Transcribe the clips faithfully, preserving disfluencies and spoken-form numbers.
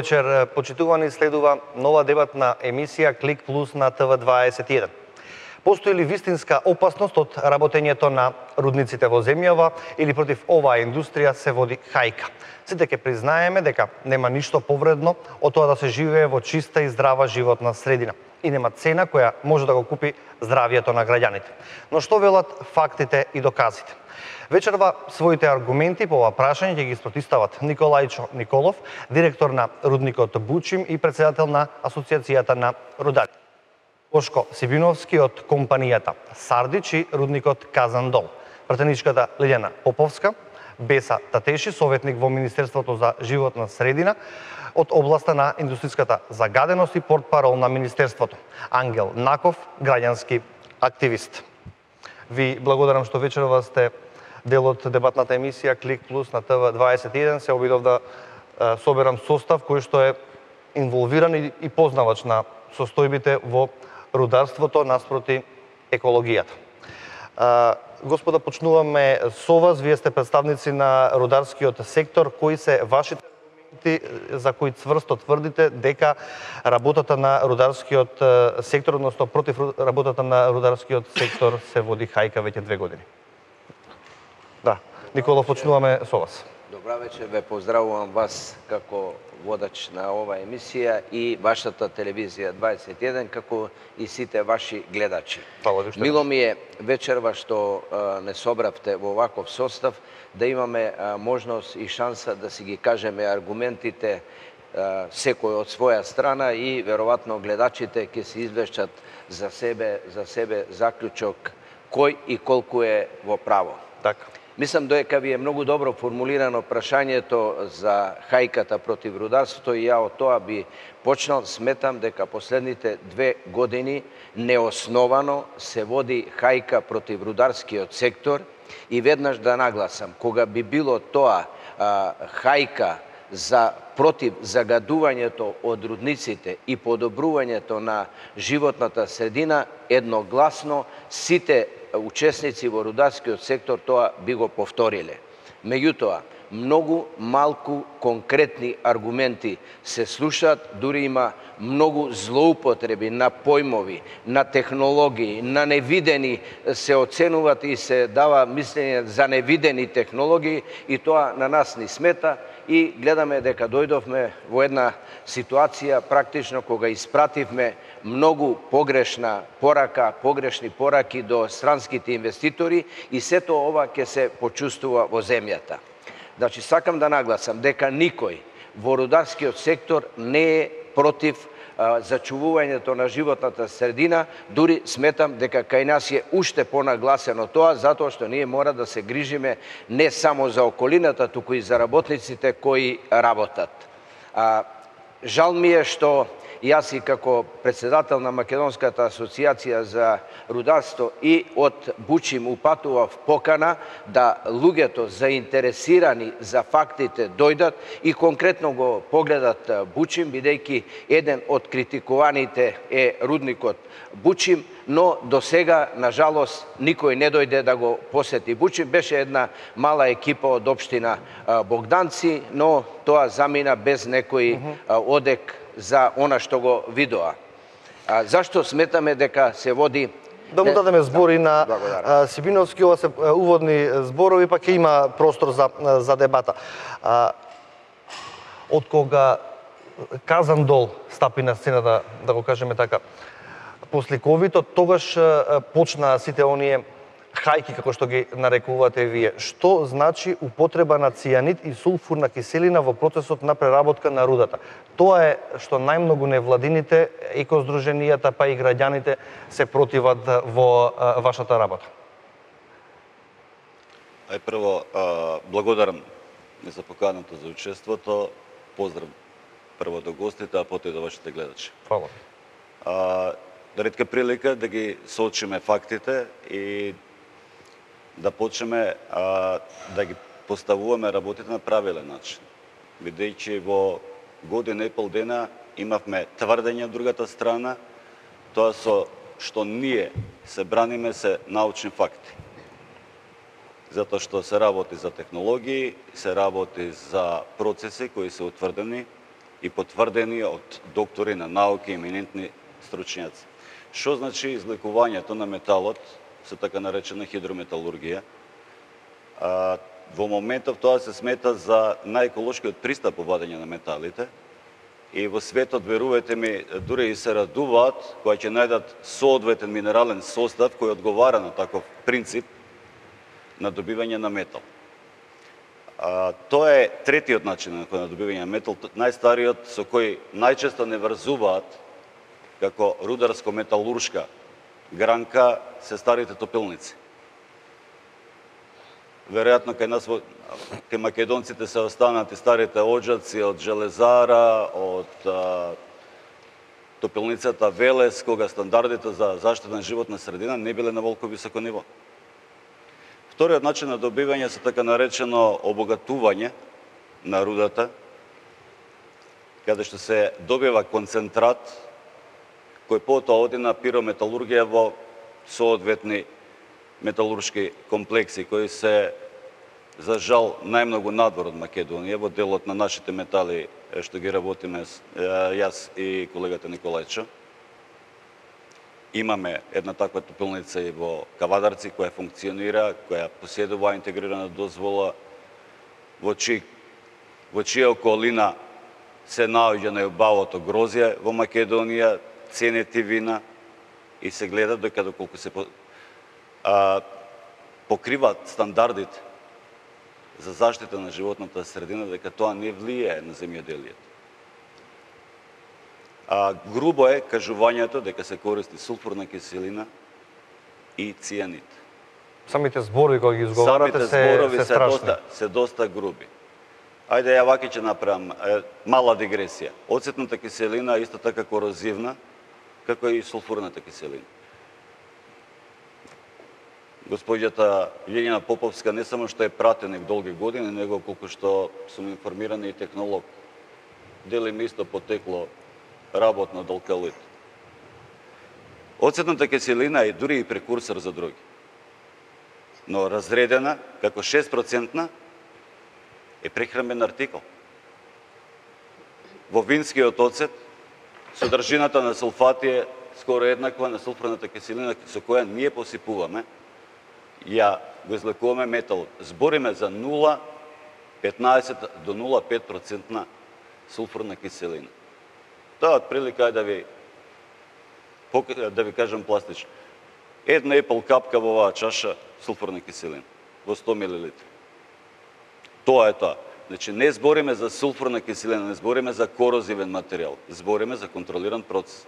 вечер, почитувани, следува нова дебатна емисија Клик Плюс на Т В дваесет и еден. Постои ли вистинска опасност од работењето на рудниците во земјава или против оваа индустрија се води хајка? Сите ќе признаеме дека нема ништо повредно од тоа да се живее во чиста и здрава животна средина и нема цена која може да го купи здравието на граѓаните. Но што велат фактите и доказите? Вечерва своите аргументи по ова прашање ќе ги спротистават Николајчо Николов, директор на рудникот Бучим и претседател на Асоциацијата на рудари, Бошко Сибиновски од компанијата Сардич и рудникот Казандол, пратеничката Лилјана Поповска, Беса Татеши, советник во Министерството за животна средина од областа на индустријската загаденост и портпарол на Министерството, Ангел Наков, граѓански активист. Ви благодарам што вечерва сте дел од дебатната емисија Клик Плюс на Т В дваесет и еден. Се обидов да соберам состав кој што е инволвиран и познавач на состојбите во рударството наспроти екологијата. Господа, почнуваме со вас. Вие сте представници на рударскиот сектор. Кои се вашите аргументи за кои цврсто тврдите дека работата на рударскиот сектор, односно против работата на рударскиот сектор се води хајка веќе две години? Да, Никола, почнуваме со вас. Добра вечер, ве поздравувам вас како водач на ова емисија и вашата телевизија дваесет и еден, како и сите ваши гледачи. Мило ми е вечерва што а, не собравте во ваков состав, да имаме а, можност и шанса да си ги кажеме аргументите а, секој од своја страна и веројатно гледачите ќе се извлечат за себе, за себе заклучок кој и колку е во право. Така. Мислам дека ви е многу добро формулирано прашањето за хајката против рударството и ја од тоа би почнал. Сметам дека последните две години неосновано се води хајка против рударскиот сектор и веднаш да нагласам, кога би било тоа а, хајка за против загадувањето од рудниците и подобрувањето на животната средина, едногласно сите учесници во рударскиот сектор тоа би го повториле. Меѓутоа, многу малку конкретни аргументи се слушаат, дури има многу злоупотреби на појмови, на технологии, на невидени се оценуваат и се дава мислење за невидени технологии и тоа на нас ни смета и гледаме дека дојдовме во една ситуација практично кога испративме многу погрешна порака, погрешни пораки до странските инвеститори и сето ова ќе се почувствува во земјата. Значи, сакам да нагласам дека никој во рударскиот сектор не е против а, зачувувањето на животната средина, дури сметам дека кај нас е уште понагласено тоа, затоа што ние мора да се грижиме не само за околината, туку и за работниците кои работат. А, жал ми е што јас и како председател на Македонската асоциација за рударство и од Бучим упатував покана да луѓето заинтересирани за фактите дојдат и конкретно го погледат Бучим, бидејќи еден од критикуваните е рудникот Бучим, но до сега, на жалост, никој не дојде да го посети Бучим. Беше една мала екипа од општина Богданци, но тоа замина без некој одек за она што го видоа. А, зашто сметаме дека се води... Да му дадеме збори на а, Сибиновски, ова се уводни зборови, па ќе има простор за, за дебата. А, од кога Казандол стапи на сцената, да го кажеме така, после ковид, од тогаш а, почна сите оние хајки, како што ги нарекувате вие. Што значи употреба на цијанид и сулфурна киселина во процесот на преработка на рудата? Тоа е што најмногу невладините, екоздруженијата, па и граѓаните се противат во а, вашата работа. Ај прво, а, благодарам за поканата за учеството. Поздрав прво до гостите, а потоа и до вашите гледачи. Фала. А, ретка прилика да ги соочиме фактите и да почнеме а, да ги поставуваме работите на правилен начин. Бидејќи во година и пол дена имавме тврдење од другата страна, тоа со што ние се браниме се научни факти. Затоа што се работи за технологии, се работи за процеси кои се утврдени и потврдени од доктори на науки и еминентни стручњаци. Што значи излекувањето на металот со така наречена хидрометалургија? А, во моментов тоа се смета за најеколошкиот пристап во вадење на металите и во светот, верувајте ми, дури и се радуваат кога ќе најдат соодветен минерален состав кој одговара на таков принцип на добивање на метал. А, тоа е третиот начин на добивање на метал, најстариот со кој најчесто не врзуваат како рударско-металуршка гранка се старите топилници. Веројатно кај нас, кај македонците се останати старите оджаци од железара, од а, топилницата Велес, кога стандардите за заштита на животна средина не биле на волко високо ниво. Вториот начин на добивање се така наречено обогатување на рудата, каде што се добива концентрат кој потоа оди на пирометалургија во соодветни металуршки комплекси кои се за жал најмногу надвор од Македонија во делот на нашите метали што ги работиме јас и колегата Николајчо. Имаме една таква топилница и во Кавадарци која функционира, која поседува интегрирана дозвола, во чија во чија околина се наоѓа најубавото грозје во Македонија, ценети вина и се гледа дека доколку се а, покриваат стандардите за заштита на животната средина, дека тоа не влијае на земјоделието. А, грубо е кажувањето дека се користи сулфурна киселина и цијанид. Самите зборови кога ги изговарате се, зборови се се страшни. доста, се доста груби. Ајде, ја ваки ќе направам е, мала дигресија. Оцетната киселина е исто така корозивна, како и сулфурната киселина. Госпоѓата Лиljana Поповска не само што е пратеник долги години, него колку што сум информиран и технолог. Делиме исто потекло работно од алкалит. Оцетната киселина е дури и прекурсор за други. Но разредена како шест проценти е прехранбен артикол. Во винскиот оцет содржината на сулфати е скоро еднаква на сулфурната киселина со која ние посипуваме, ја го излекуваме метал. Збориме за нула целу петнаесет до нула целу пет проценти сулфурна киселина. Тоа отприлика е да ви да ви кажам пластично. Една епл капка во оваа чаша сулфурна киселина во сто милилитри. Тоа е тоа. Значи, не збориме за сулфурна киселина, не збориме за корозивен материјал, збориме за контролиран процес.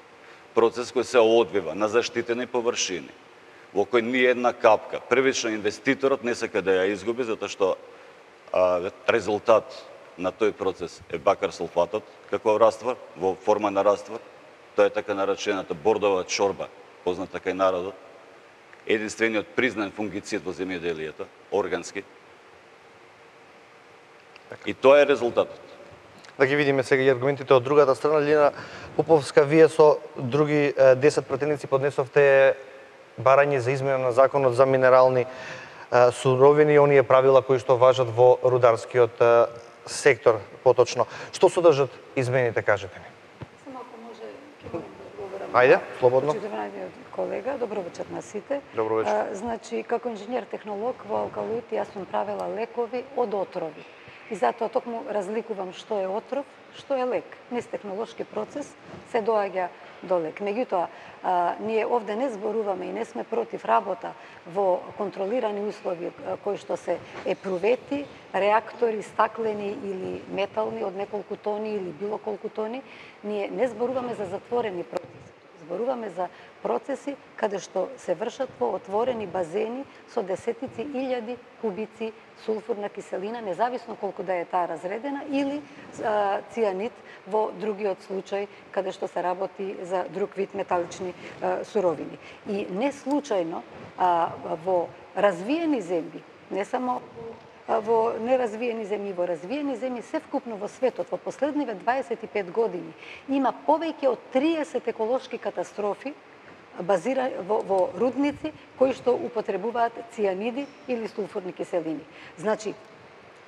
Процес кој се одвива на заштитени површини, во кој ни една капка. Првично инвеститорот не сака да ја изгуби, затоа што а, резултат на тој процес е бакар сулфатот, како раствор, во форма на раствор. Тоа е така наречената бордова чорба, позната кај народот. Единствениот признан фунгицид во земјоделието, органски. И тоа е резултатот. Да ги видиме сега и аргументите од другата страна. Лиljana Поповска, вие со други десет пратеници поднесовте барање за измена на законот за минерални суровини и оние правила кои што важат во рударскиот сектор поточно. Што содржат измените, кажете ми? Само ако може, ќе молам да одговорам. Ајде, слободно. Почитуваниот колега, добро вечер на сите. Добро вечер. А, значи, како инженер-технолог во Алкалуит, јас сум правила лекови од отрови. И затоа токму разликувам што е отров, што е лек. Низ технолошки процес се доаѓа до лек. Меѓутоа, а, ние овде не зборуваме и не сме против работа во контролирани услови кои што се епрувети, реактори стаклени или метални од неколку тони или било колку тони. Ние не зборуваме за затворени процеси. Зборуваме за процеси каде што се вршат во отворени базени со десетици илјади кубици сулфурна киселина, независно колку да е таа разредена, или а, цијанид во другиот случај каде што се работи за друг вид металични а, суровини. И не случајно а, во развиени земји, не само во неразвиени земји, во развиени земји, севкупно во светот, во последниве дваесет и пет години, има повеќе од триесет еколошки катастрофи базира во, во рудници кои што употребуваат цијаниди или сулфурни киселини. Значи,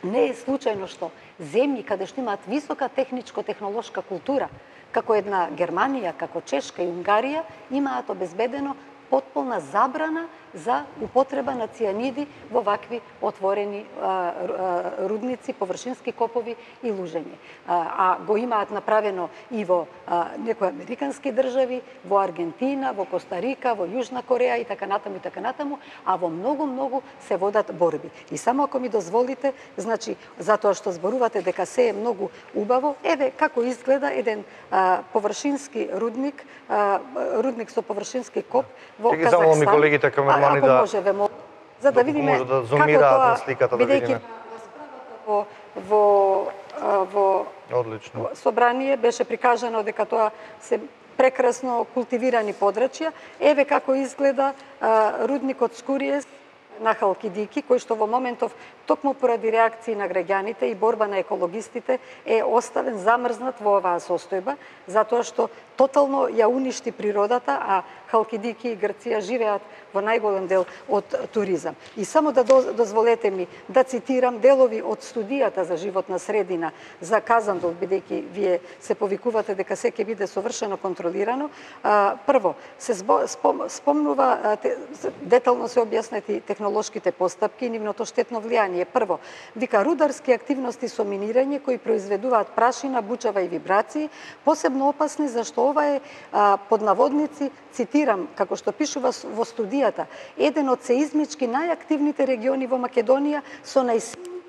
Не е случајно што земји каде што имаат висока техничко-технолошка култура, како една Германија, како Чешка и Унгарија, имаат обезбедено потполна забрана за употреба на цијаниди во вакви отворени а, а, рудници, површински копови и лужење. А, а го имаат направено и во а, некои американски држави, во Аргентина, во Коста-Рика, во Јужна Кореја и така натаму и така натаму, а во многу-многу се водат борби. И само ако ми дозволите, значи, затоа што зборувате дека се е многу убаво, еве како изгледа еден а, површински рудник, а, рудник со површински коп во Ќе ги замолам и Казахстан. колегите камермани да... Може, ве мол... за да видиме може да како зумираат тоа, на сликата, да бидејќи видиме. во, во, а, во Одлично. собрание беше прикажано дека тоа се прекрасно култивирани подрачја. Еве како изгледа а, рудникот Скуриес на Халкидики, кој што во моментов, токму поради реакции на граѓаните и борба на екологистите, е оставен замрзнат во оваа состојба, затоа што тотално ја уништи природата, а Халкидики и Грција живеат во најголем дел од туризам. И само да дозволете ми да цитирам делови од студијата за животна средина за Казандол, бидејќи вие се повикувате дека се ќе биде совршено контролирано. А, прво, се спом, спомнува, а, те, детално се објаснети технолошките постапки и нивното штетно влијание. Прво, вика рударски активности со минирање кои произведуваат прашина, бучава и вибрации, посебно опасни зашто ова е а, под наводници, цитирам, како што пишува во студијата, еден од сеизмички најактивните региони во Македонија со најсилните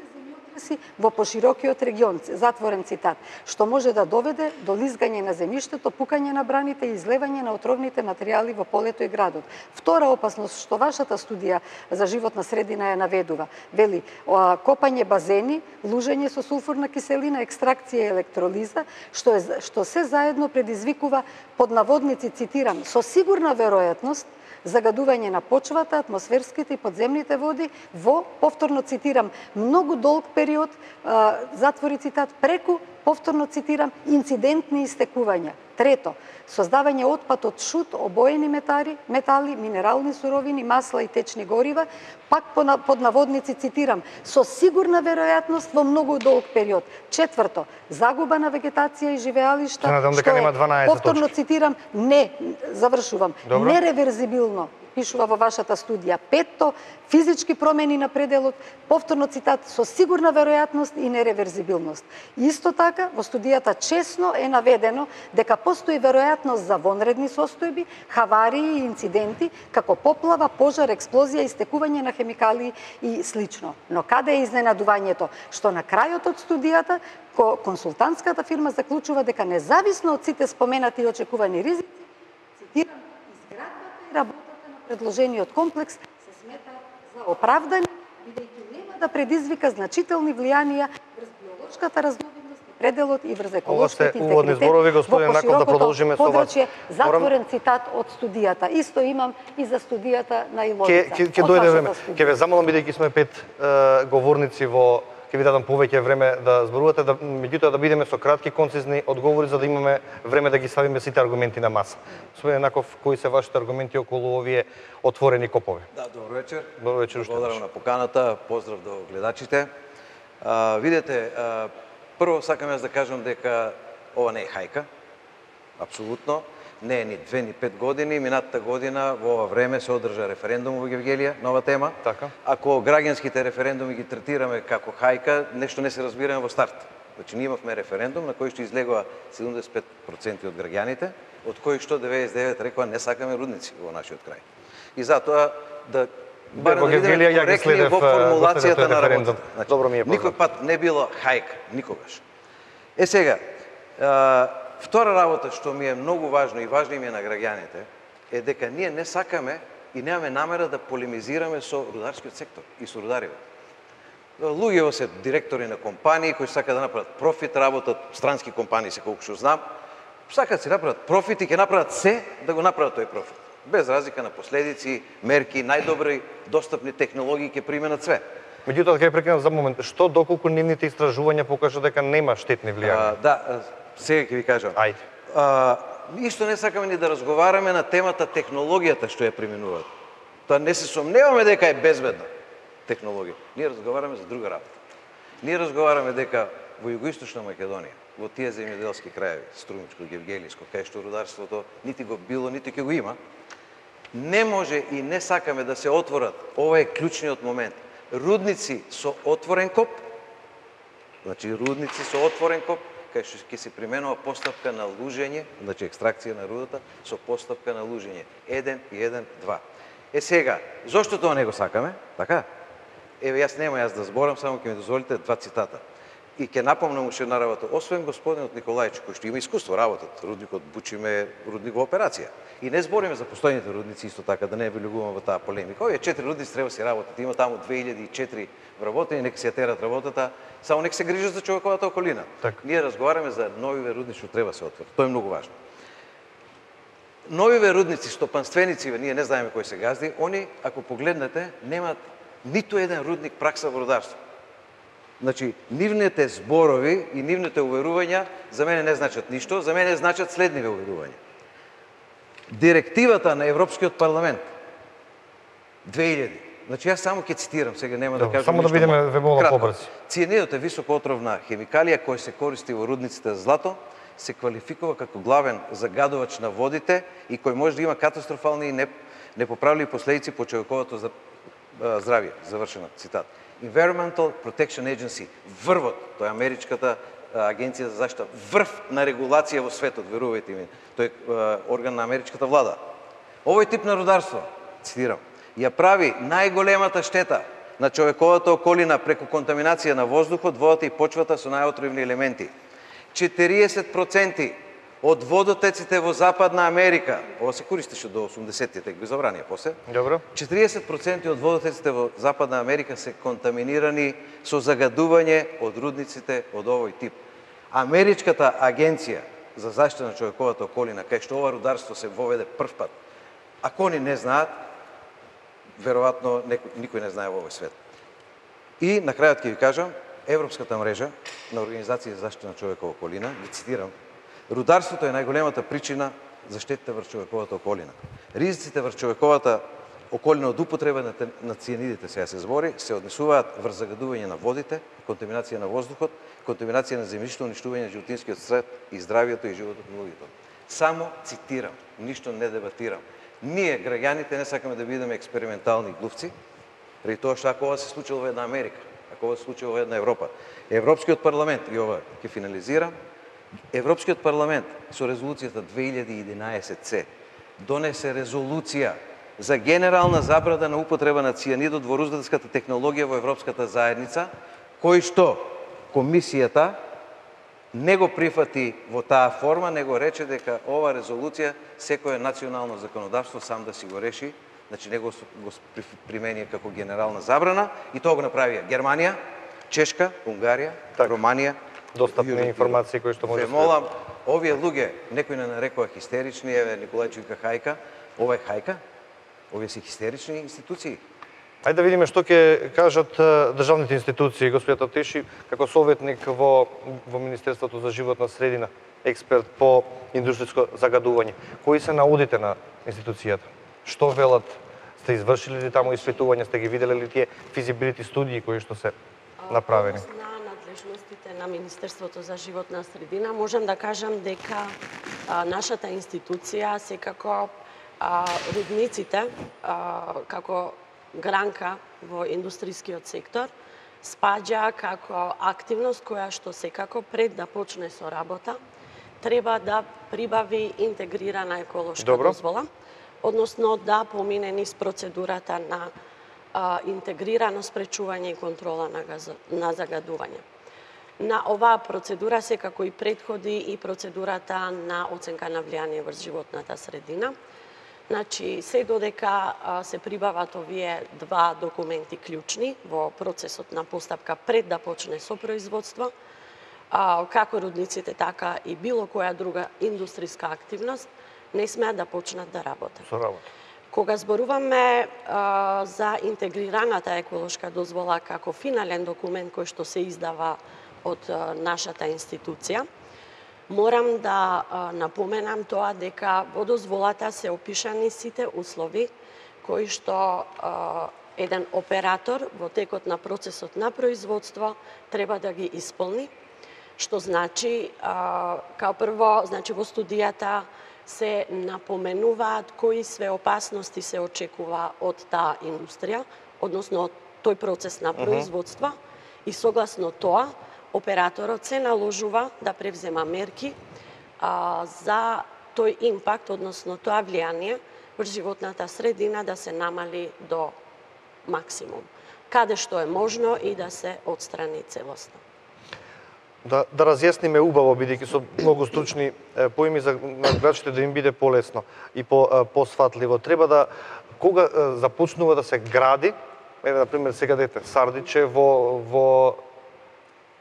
земјотреси во поширокиот регион, затворен цитат, што може да доведе до лизгање на земјиштето, пукање на браните и излевање на отровните материјали во полето и градот. Втора опасност што вашата студија за животна средина ја наведува, вели, копање базени, лужење со сулфурна киселина, екстракција и електролиза, што, е, што се заедно предизвикува под наводници, цитирам, со сигурна веројатност загадување на почвата, атмосферските и подземните води во, повторно цитирам, многу долг период, а, затвори цитат, преку, повторно цитирам, инцидентни истекувања. Трето, создавање отпад од шут, обоени метали, метали, минерални суровини, масла и течни горива, пак под наводници, цитирам, со сигурна веројатност во многу долг период. Четврто, загуба на вегетација и живеалишта, што е, повторно цитирам, не, завршувам, Добро. Нереверзибилно, пишува во вашата студија. Петто, физички промени на пределот, повторно цитат, со сигурна веројатност и нереверзибилност. Исто така, во студијата честно е наведено дека постои веројатност за вонредни состојби, хаварии и инциденти, како поплава, пожар, експлозија, истекување на хемикалии и слично. Но каде е изненадувањето? Што на крајот од студијата, консултантската фирма заклучува дека независно од сите споменати и очекувани ризици, цитирам, изградбата и работата на предложениот комплекс се смета за оправдани, бидејќи нема да предизвика значителни влијанија врз биолошката разновидност и пределот и врз еколошкиот интегритет господин Наков, да продолжиме со вас. Затворен цитат од студијата. Исто имам и за студијата на Иловица. Ке ке дојде време. Ке ве замолам, бидејќи сме пет е, говорници во, ќе ви дадам повеќе време да зборувате, да, меѓутоа да бидеме со кратки, концизни одговори, за да имаме време да ги ставиме сите аргументи на маса. Господин Наков, кои се вашите аргументи околу овие отворени копови? Да, добро вечер. Добро вечер. Благодарам на поканата, поздрав до гледачите. А, видете, а, прво сакам јас да кажам дека ова не е хајка, апсолутно. Не е ни две, ни пет години. Минатата година во ова време се одржа референдум во Гевгелија, нова тема. Така. Ако граѓанските референдуми ги третираме како хајка, нешто не се разбираме во старт. Значи, ние имавме референдум на кој што излегува седумдесет и пет проценти од граѓаните, од кои што деветдесет и девет рекоа не сакаме рудници во нашиот крај. И затоа да барем да видиме коректни во формулацијата на работата. Значи, Добро ми е познато. Никој пат не било хајка, никогаш. Е сега, а, втора работа што ми е многу важно и важно им е на граѓаните е дека ние не сакаме и немаме намера да полемизираме со рударскиот сектор и со рудариве. Луѓето се директори на компании кои сакаат да направат профит, работат странски компании, се колку што знам, сакаат да си направат профит и ќе направат се да го направат тој профит. Без разлика на последици, мерки, најдобри достапни технологии ќе применат све. Меѓутоа, ќе прекинам за момент. Што доколку нивните истражувања покажа дека нема штетни влијанија? Да, сега ќе ви кажам. Ајде. А, исто не сакаме ни да разговараме на темата технологијата што ја применуваат. Тоа не се сомневаме дека е безбедна технологија. Ние разговараме за друга работа. Ние разговараме дека во Југоисточна Македонија, во тие земјоделски краеви, Струмичко, Гевгелиско, кај што рударството нити го било, нити ќе го има, не може и не сакаме да се отворат, ова е клучниот момент, рудници со отворен коп, значи рудници со отворен коп, кај што ќе се применува постапка на лужење, значи екстракција на рудата со постапка на лужење, еден и еден, два. Е сега, зошто тоа не го сакаме? Така? Еве, јас нема јас да зборам, само ќе ми дозволите два цитата. И ќе напомнам уште една работа. Освен господинот Николајчик, кој што има искуство работат, рудникот Бучиме, рудник во операција. И не збориме за постојните рудници исто така, да не влегуваме во таа полемика. Овие четири рудници треба се работат. Има таму две илјади и четири вработени, нека се ја терат работата, само нека се грижат за човековата околина. Так. Ние разговараме за новиве рудници што треба се отворат. Тоа е многу важно. Новиве рудници, стопанственици, ние не знаеме кој се газди, они, ако погледнете, немат ниту еден рудник пракса во рударство. Значи, нивните зборови и нивните уверувања за мене не значат ништо, за мене значат следниве уверувања. Директивата на Европскиот парламент две илјади. Значи, јас само ќе цитирам, сега нема да, да кажам само ништо. Само да бидеме вебола побрзи. Цианидот е високоотровна хемикалија која се користи во рудниците за злато, се квалификува како главен загадувач на водите и кој може да има катастрофални и непоправливи последици по човековото здравје. Завршена цитат. Environmental Protection Agency, врвот, тоа е америчката агенција за заштита, врв на регулација во светот, верувајте ми. Тој е орган на америчката влада. Овој тип на рударство, цитирам, ја прави најголемата штета на човековата околина преку контаминација на воздухот, водата и почвата со најотровни елементи. четириесет проценти од водотеците во Западна Америка, ова се користеше до осумдесеттите, ги забранија после. Добро. четириесет проценти од водотеците во Западна Америка се контаминирани со загадување од рудниците од овој тип. Америчката агенција за заштита на човековата околина, кај што ова рударство се воведе прв пат, ако они не знаат, веројатно никој не знае во овој свет. И на крајот ќе ви кажам, Европската мрежа на организации за заштита на човекова околина, ги цитирам, рударството е најголемата причина за штетите врз човековата околина. Ризиците врз човековата околина од употреба на, на цианидите, сега се збори, се однесуваат врз загадување на водите, контаминација на воздухот, контаминација на земјишто, уништување на животинскиот свет и здравието и животот на луѓето. Само цитирам, ништо не дебатирам. Ние, граѓаните, не сакаме да бидеме експериментални глувци, преди тоа што ако ова се случило во една Америка, ако ова се случило во една Европа, Европскиот парламент, и ова ќе финализирам, Европскиот парламент со резолуцијата две илјади и единаесет се донесе резолуција за генерална забрана на употреба на цианидот во рударската технологија во Европската заедница, кој што комисијата не го прифати во таа форма, него рече дека ова резолуција секое национално законодавство сам да си го реши, значи него го примени како генерална забрана и тоа го направија Германија, Чешка, Унгарија, так. Романија. Достапни информации кои што може да се молам, овие луѓе, некој не нарекува хистерични, еве Николајчик вика хајка, ова е хајка, овие се хистерични институции. Ајде да видиме што ќе кажат државните институции, господјата Тиши, како советник во, во Министерството за животна средина, експерт по индустријско загадување. Кои се наудите на институцијата? Што велат? Сте извршили ли таму испитувања, сте ги виделе ли тие физибилити студии кои што се направени? Надлежностите на Министерството за животна средина, можам да кажам дека а, нашата институција секако а, рудниците а, како гранка во индустријскиот сектор спаѓа како активност која што секако пред да почне со работа треба да прибави интегрирана еколошка Добро. дозвола, односно да помине низ процедурата на а, интегрирано спречување и контрола на, газ... на загадување. На оваа процедура секако и предходи и процедурата на оценка на влијание врз животната средина. Значи, се додека а, се прибават овие два документи клучни во процесот на постапка пред да почне со производство, а, како рудниците, така и било која друга индустријска активност, не смеат да почнат да работат. Со работа. Кога зборуваме а, за интегрираната еколошка дозвола како финален документ кој што се издава од а, нашата институција, морам да а, напоменам тоа дека во дозволата се опишани сите услови кои што а, еден оператор во текот на процесот на производство треба да ги исполни, што значи, као прво, значи во студијата се напоменуваат кои све опасности се очекува од таа индустрија, односно од тој процес на производство, uh -huh. и согласно тоа, операторот се наложува да превзема мерки а, за тој импакт, односно тоа влијание врз животната средина да се намали до максимум, каде што е можно и да се отстрани целосно. Да, да разјасниме убаво, бидејќи со многу стручни поими за гледачите да им биде полесно и по посфатливо. Треба да, кога започнува да се гради, еве, например, сега дете Сардиче во, во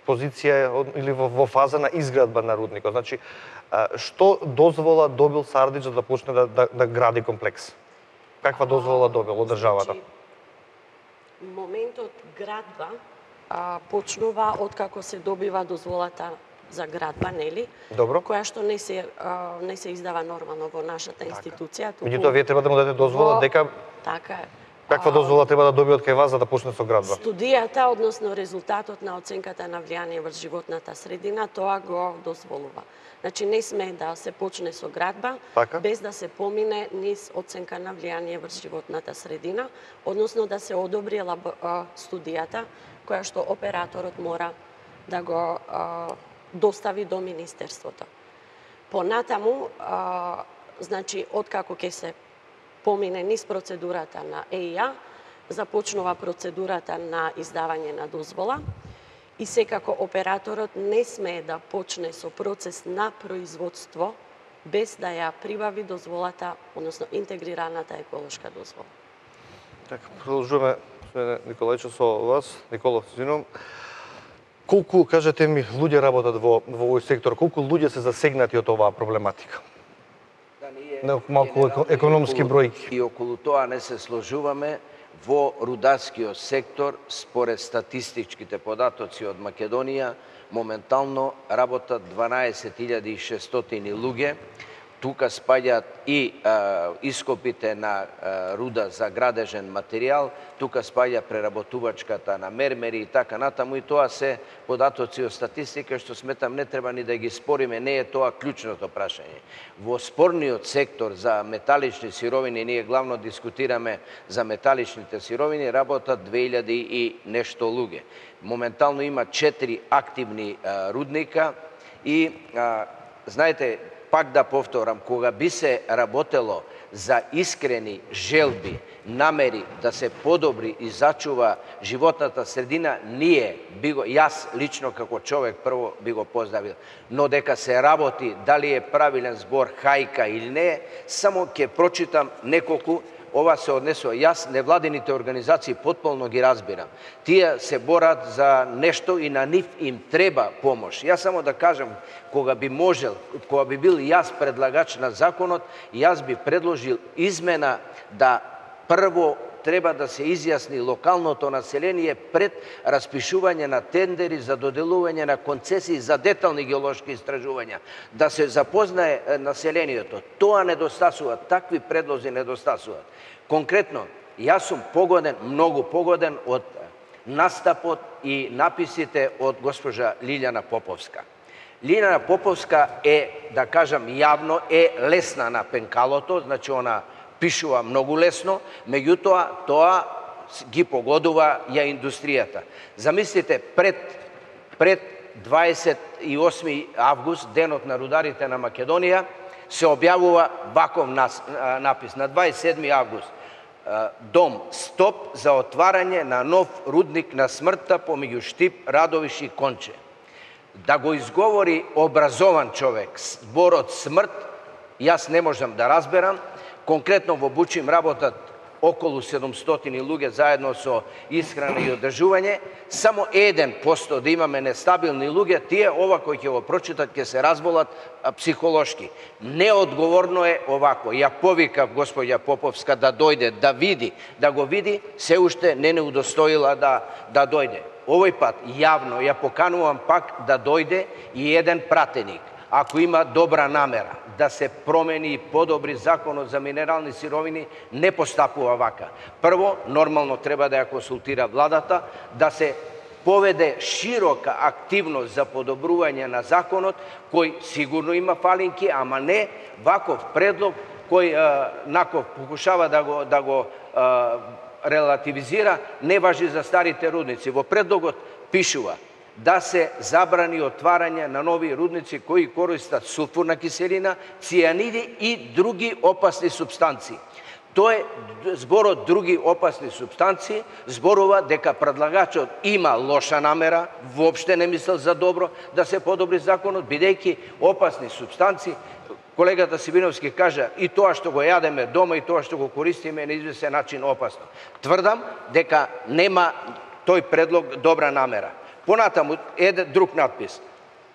позиција или во, во фаза на изградба на рудникот. Значи, што дозвола добил Сардич за да почне да, да, да гради комплекс? Каква дозвола добил од државата? Значи, моментот градба а, почнува откако се добива дозволата за градба, нели? Добро. Која што не се а, не се издава нормално во нашата институција. Туку... Меѓутоа вие треба да му дадете дозвола во... дека Така е. Каква дозвола треба да добие од кај вас за да почне со градба? Студијата, односно резултатот на оценката на влијание врз животната средина, тоа го дозволува. Значи не сме да се почне со градба така? без да се помине низ оценка на влијание врз животната средина, односно да се одобри лаб... студијата која што операторот мора да го а, достави до Министерството. Понатаму, а, значи, откако ќе се помине низ процедурата на Е И А, започнува процедурата на издавање на дозвола и секако операторот не смее да почне со процес на производство без да ја прибави дозволата, односно интегрираната еколошка дозвола. Така, продолжуваме, Николајче, со вас. Никола, извинувам. Колку, кажете ми, луѓе работат во, во овој сектор? Колку луѓе се засегнати од оваа проблематика? Да, малку економски бројки. И околу тоа не се сложуваме. Во рударскиот сектор, според статистичките податоци од Македонија, моментално работат дванаесет илјади и шестстотини луѓе. Тука спаѓаат и а, ископите на а, руда за градежен материјал, тука спаѓа преработувачката на мермери и така натаму, и тоа се податоци од статистика што сметам не треба ни да ги спориме, не е тоа клучното прашање. Во спорниот сектор за металични сировини, ние главно дискутираме за металичните сировини, работат две илјади и нешто луѓе. Моментално има четири активни а, рудника и а, знаете, пак да повторам, кога би се работело за искрени желби, намери да се подобри и зачува животната средина, ние би го, јас лично како човек прво би го поздравил. Но дека се работи, дали е правилен збор хајка или не, само ќе прочитам неколку. Ова се однесува. Јас невладините организации потполно ги разбирам. Тие се борат за нешто и на нив им треба помош. Јас само да кажам, кога би можел, кога би бил јас предлагач на законот, јас би предложил измена да прво треба да се изјасни локалното население пред распишување на тендери за доделување на концесии за детални геолошки истражувања. Да се запознае населението. Тоа недостасува, такви предлози недостасуваат. Конкретно, јас сум погоден, многу погоден од настапот и написите од госпожа Лилјана Поповска. Лилјана Поповска е, да кажам јавно, е лесна на пенкалото, значи она пишува многу лесно, меѓутоа тоа ги погодува ја индустријата. Замислите, пред, пред дваесет и осми август, денот на рударите на Македонија, се објавува ваков напис. На дваесет и седми август, дом стоп за отварање на нов рудник на смртта помеѓу Штип, Радовиш и Конче. Да го изговори образован човек зборот смрт, јас не можам да разберам. Конкретно во Бучим работат околу седумстотини луѓе заедно со исхрана и одржување. Само еден посто да имаме нестабилни луѓе, тие ова кои ќе го прочитат ќе се разболат психолошки. Неодговорно е овако. Ја повикав господја Поповска да дојде, да види, да го види, се уште не не удостоила да, да дојде. Овој пат јавно ја поканувам пак да дојде и еден пратеник. ако има добра намера да се промени и подобри законот за минерални сировини, не постапува вака. Прво, нормално треба да ја консултира владата, да се поведе широка активност за подобрување на законот, кој сигурно има фалинки, ама не ваков предлог кој наков покушава да го, да го а, релативизира, не важи за старите рудници. Во предлогот пишува да се забрани отварање на нови рудници кои користат сулфурна киселина, цијаниди и други опасни супстанции. Тој зборот други опасни супстанции зборува дека предлагачот има лоша намера, воопште не мислел за добро да се подобри законот, бидејќи опасни супстанции, колегата Сибиновски кажа, и тоа што го јадеме дома и тоа што го користиме на известен начин опасно. Тврдам дека нема тој предлог добра намера. Понатаму еден друг надпис.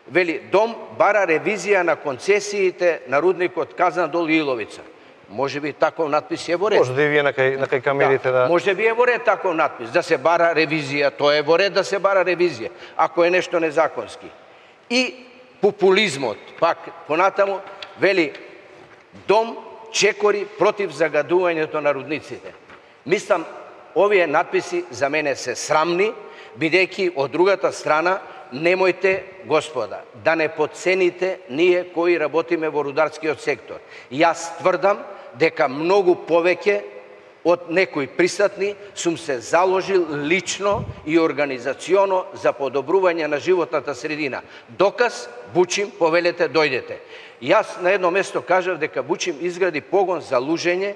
Вели, дом бара ревизија на концесиите на рудникот Казандол и Иловица. Може би таков надпис е во ред. Може да и вие на кај, на кај камерите да... да... Може би е во ред таков надпис, да се бара ревизија, тоа е во ред да се бара ревизија, ако е нешто незаконски. И популизмот, пак понатаму, вели, дом чекори против загадувањето на рудниците. Мислам, овие надписи за мене се срамни, бидејќи од другата страна, немојте, господа, да не подцените ние кои работиме во рударскиот сектор. Јас тврдам дека многу повеќе од некои присутни сум се заложил лично и организационо за подобрување на животната средина. Доказ, Бучим, повелете, дојдете. Јас на едно место кажав дека Бучим изгради погон за лужење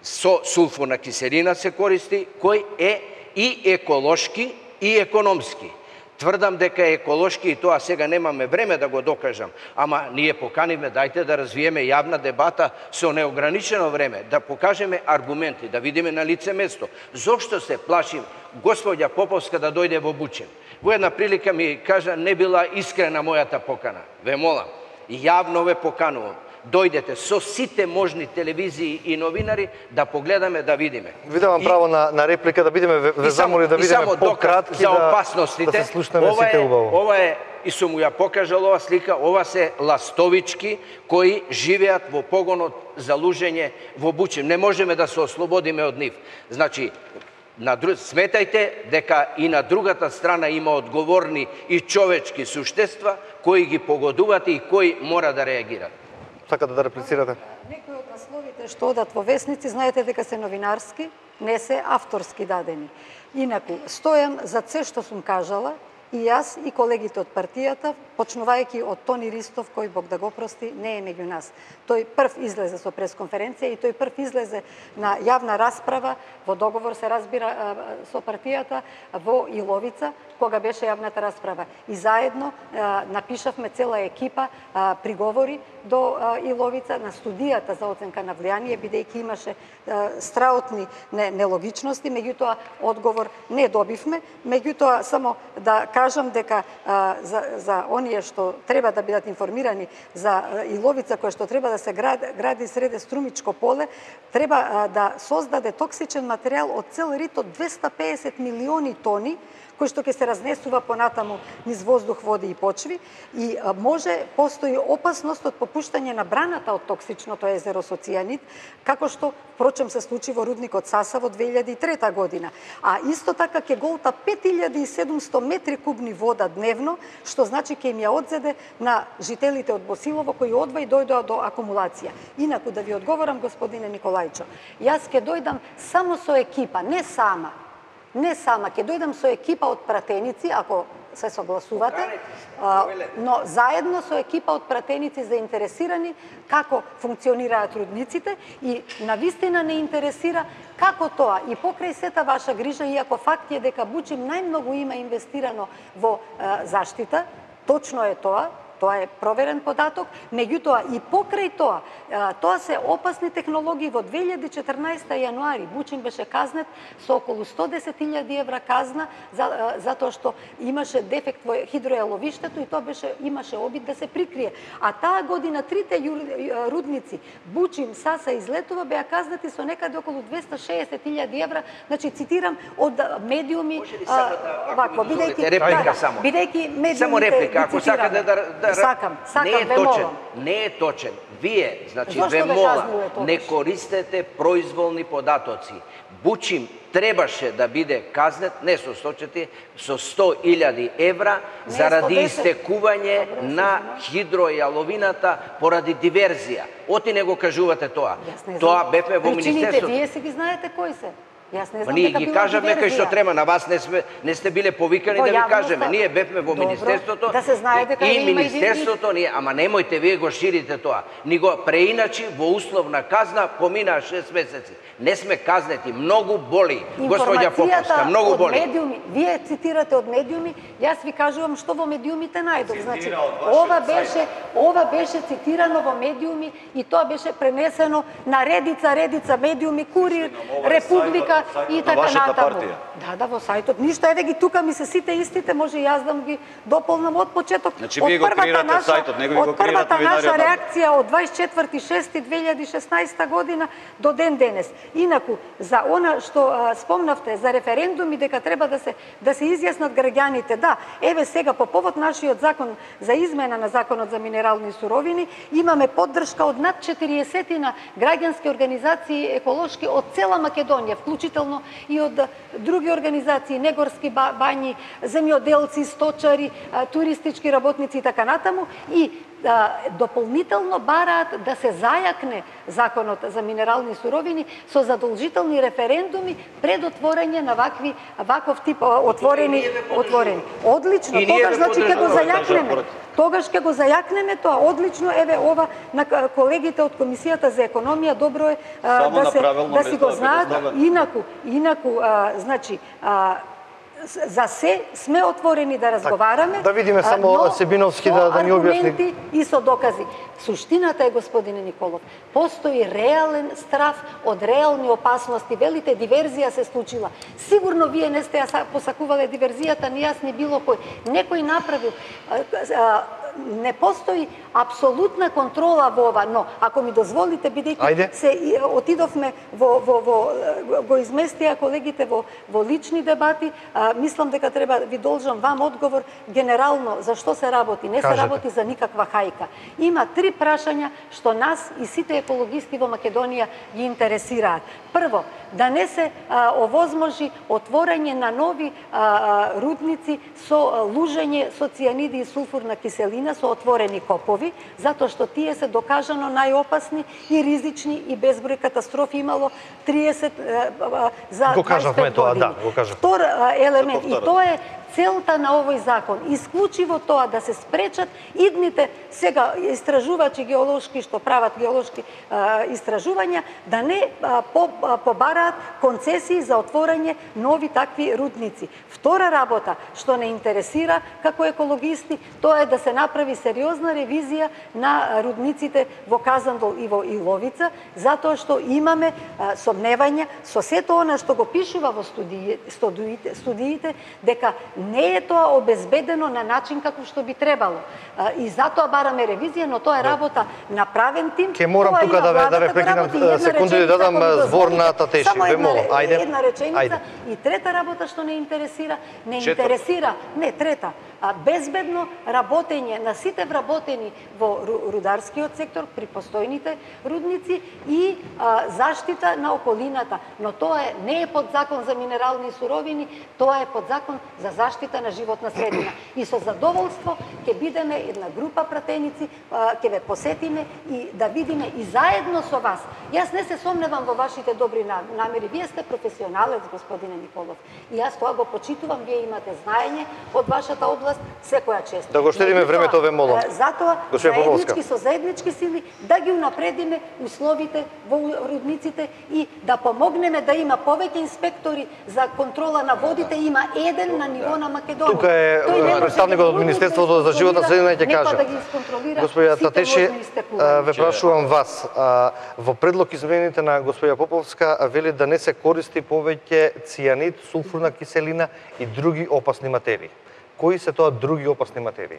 со сулфурна киселина се користи, кој е и еколошки и економски. Тврдам дека е еколошки и тоа сега немаме време да го докажам, ама ние поканивме, дајте да развиеме јавна дебата со неограничено време, да покажеме аргументи, да видиме на лице место. Зошто се плашим господја Поповска да дојде во Бучим? Во една прилика ми кажа, не била искрена мојата покана. Ве молам, јавно ве поканувам. Дојдете со сите можни телевизии и новинари да погледаме, да видиме. Ви давам и... право на, на реплика, да видиме, ве замоли да видиме пократки, за опасностите, да, да се слушнеме ова сите е, убаво. Ова е, и сум ја покажал ова слика, ова се ластовички кои живеат во погонот за лужење во Бучим. Не можеме да се ослободиме од нив. Значи, на друг... сметајте дека и на другата страна има одговорни и човечки суштества кои ги погодуваат и кои мора да реагират. Сакате да реплицирате? Некои од насловите што одат во весници, знаете дека се новинарски, не се авторски дадени. Инаку, стојам за се што сум кажала, и јас и колегите од партијата, почнувајќи од Тони Ристов, кој Бог да го прости, не е меѓу нас. Тој прв излезе со пресконференција и тој прв излезе на јавна расправа, во договор се разбира со партијата, во Иловица, кога беше јавната расправа. И заедно напишавме цела екипа приговори до Иловица на студијата за оценка на влијание, бидејќи имаше страотни нелогичности, меѓутоа одговор не добивме. Меѓутоа, само да кажам дека за, за оние што треба да бидат информирани за Иловица, која што треба да се гради, гради среде Струмичко поле, треба да создаде токсичен материјал од цел рит од двесте и песет милиони тони, кој што ќе се разнесува понатаму низ воздух, води и почви, и може, постои опасност од попуштање на браната од токсичното езеро со цијанид, како што, впрочем, се случи во рудникот Саса во две илјади и трета година. А исто така ќе голта пет илјади и седумсто метри кубни вода дневно, што значи ќе им ја одзеде на жителите од Босилово, кои одва и дојдоа до акумулација. Инаку, да ви одговорам, господине Николајчо, јас ќе дојдам само со екипа, не сама, Не сама, ќе дојдам со екипа од пратеници, ако се согласувате, но заедно со екипа од пратеници заинтересирани како функционираат рудниците и навистина не интересира како тоа и покрај сета ваша грижа, иако факт е дека Бучим најмногу има инвестирано во заштита, точно е тоа, тоа е проверен податок, меѓутоа и покрај тоа, тоа се опасни технологии. Во две илјади и четрнаесета јануари Бучим беше казнет со околу сто десет илјади евра казна за, затоа што имаше дефект во хидроеловиштето и тоа беше имаше обид да се прикрие. А таа година трите рудници Бучим, Саса и Злетова беа казнати со некаде околу двесте и шеесет илјади евра, значи цитирам од медиуми, вакво, бидејќи реплика само. Бидејќи медиумите само реплика, ако сакате да Минатата Сакам, сакам, не е ве точен. молам. Не е точен. Вие, значи, Зошто ве ве молам, казниле тогаш? не користете произволни податоци. Бучим требаше да биде казнет не со сто четири, со сто илјади евра заради сто десет. истекување Добре, на хидројаловината поради диверзија. Оти не го кажувате тоа. Јас не знам. Тоа бевме во Причините, Министерството. вие си ги знаете кои се. Јас не Ма знам ние дека ги била кажаме кај што диверзија. треба, на вас не сме не сте биле повикани Во да ви јавноста. кажеме. Ние бевме во Добро, Министерството. да се знае дека и, има и и- Министерството ние, ама немојте вие го ширите тоа. Ни го преиначи во условна казна поминаа шест месеци. Не сме казнети, многу боли. Господја Поповска, многу од боли. медиуми, вие цитирате од медиуми, јас ви кажувам што во медиумите најдов. Значи, ова беше, ова беше цитирано во медиуми и тоа беше пренесено на редица, редица медиуми, Курир, Република и така вашата натаму. партија. Да, да, во сајтот. Ништо, еве ги тука ми се сите истите, може и јас да ги дополнам од почеток. Значи, од вие го првата креирате наша- сајтот, него ви го од првата креират новинари наша од нас. реакција од дваесет и четврти шести две илјади и шеснаесета година до ден денес. Инаку, за она што а, спомнавте за референдуми дека треба да се да се изјаснат граѓаните, да, еве сега по повод нашиот закон за измена на законот за минерални суровини имаме поддршка од над четириесет на граѓански организации еколошки од цела Македонија, вклучително и од а, други организации, негорски ба- бањи, земјоделци, сточари, а, туристички работници и така натаму, и а, дополнително бараат да се зајакне законот за минерални суровини со задолжителни референдуми пред отворање на вакви ваков тип а, отворени ние ве поддржуваме. отворени. Одлично, И ние тогаш ве значи ќе го поддржуваме, зајакнеме. Тогаш ќе го зајакнеме тоа. Одлично, еве ова на к- колегите од Комисијата за економија добро е а, Само да на се правилно да си место го да знаат. биде ставен. Инаку, инаку а, значи а, с- за се сме отворени да разговараме. да видиме а, само но Себиновски со да- да ни објасни. аргументи и со докази. Суштината е, господине Николов, постои реален страф од реални опасности. Велите, диверзија се случила. Сигурно вие не сте ја са- посакувале диверзијата, ни јас, ни било кој. Некој направил. а, а, Не постои апсолутна контрола во ова, но ако ми дозволите, Ајде. бидејќи се и, отидовме во, во, во го изместија колегите во, во лични дебати, а, мислам дека треба ви должам вам одговор генерално за што се работи. Не се Кажете. работи за никаква хајка. Има три прашања што нас и сите екологисти во Македонија ги интересираат. Прво, да не се а, овозможи отворање на нови а, а, рудници со а, лужење со цијаниди и сулфурна киселина со отворени копови, затоа што тие се докажано најопасни и ризични и безброј катастрофи имало триесет а, а, за Го кажавме дваесет пет тоа, години. да, го кажавме. Втор а, елемент, Се и повтора. тоа е целта на овој закон, исклучиво тоа да се спречат идните сега истражувачи геолошки што прават геолошки а, истражувања да не а, по, а, побараат концесии за отворање нови такви рудници. Втора работа што не интересира како екологисти, тоа е да се направи сериозна ревизија на рудниците во Казандол и во Иловица, затоа што имаме а, сомневања со сето она што го пишува во студии, студиите, студиите дека не е тоа обезбедено на начин како што би требало. А, И затоа бараме ревизија, но тоа е работа на правен тим. Ке морам Тоа тука има да ве- да владата ве го прекинам, работи. Една секунду и да реченица, дадам, ако ми збор на дозволите. Татеши. Само Ве една молам, ре- ајде. Една реченица. Ајде. И трета работа што не интересира, не Четврта. интересира, не трета, а безбедно работење на сите вработени во ру- рударскиот сектор при постојните рудници и а, заштита на околината. Но тоа е, не е под закон за минерални суровини, тоа е под закон за заштита на животна средина. И со задоволство ќе бидеме една група пратеници, а, ќе ве посетиме и да видиме и заедно со вас. Јас не се сомневам во вашите добри на- намери. Вие сте професионалец, господине Николов. И јас тоа го почитувам, вие имате знаење од вашата област, секоја чест. Да го штедиме Меѓутоа, времето, ве молам. е, Затоа, Госпоѓа Поповска. заеднички со заеднички сили, да ги унапредиме условите во рудниците и да помогнеме да има повеќе инспектори за контрола на водите, има еден на ниво на Македонија. Тука е Тој не може представникот да од ги Министерството за животна средина и ќе некој каже. да ги исконтролира Господја сите Татеши, можни истекувања. а, ве прашувам вас, а, во предлог измените на господја Поповска а, вели да не се користи повеќе цијанид, сулфурна киселина и други опасни материи. Кои се тоа други опасни материи?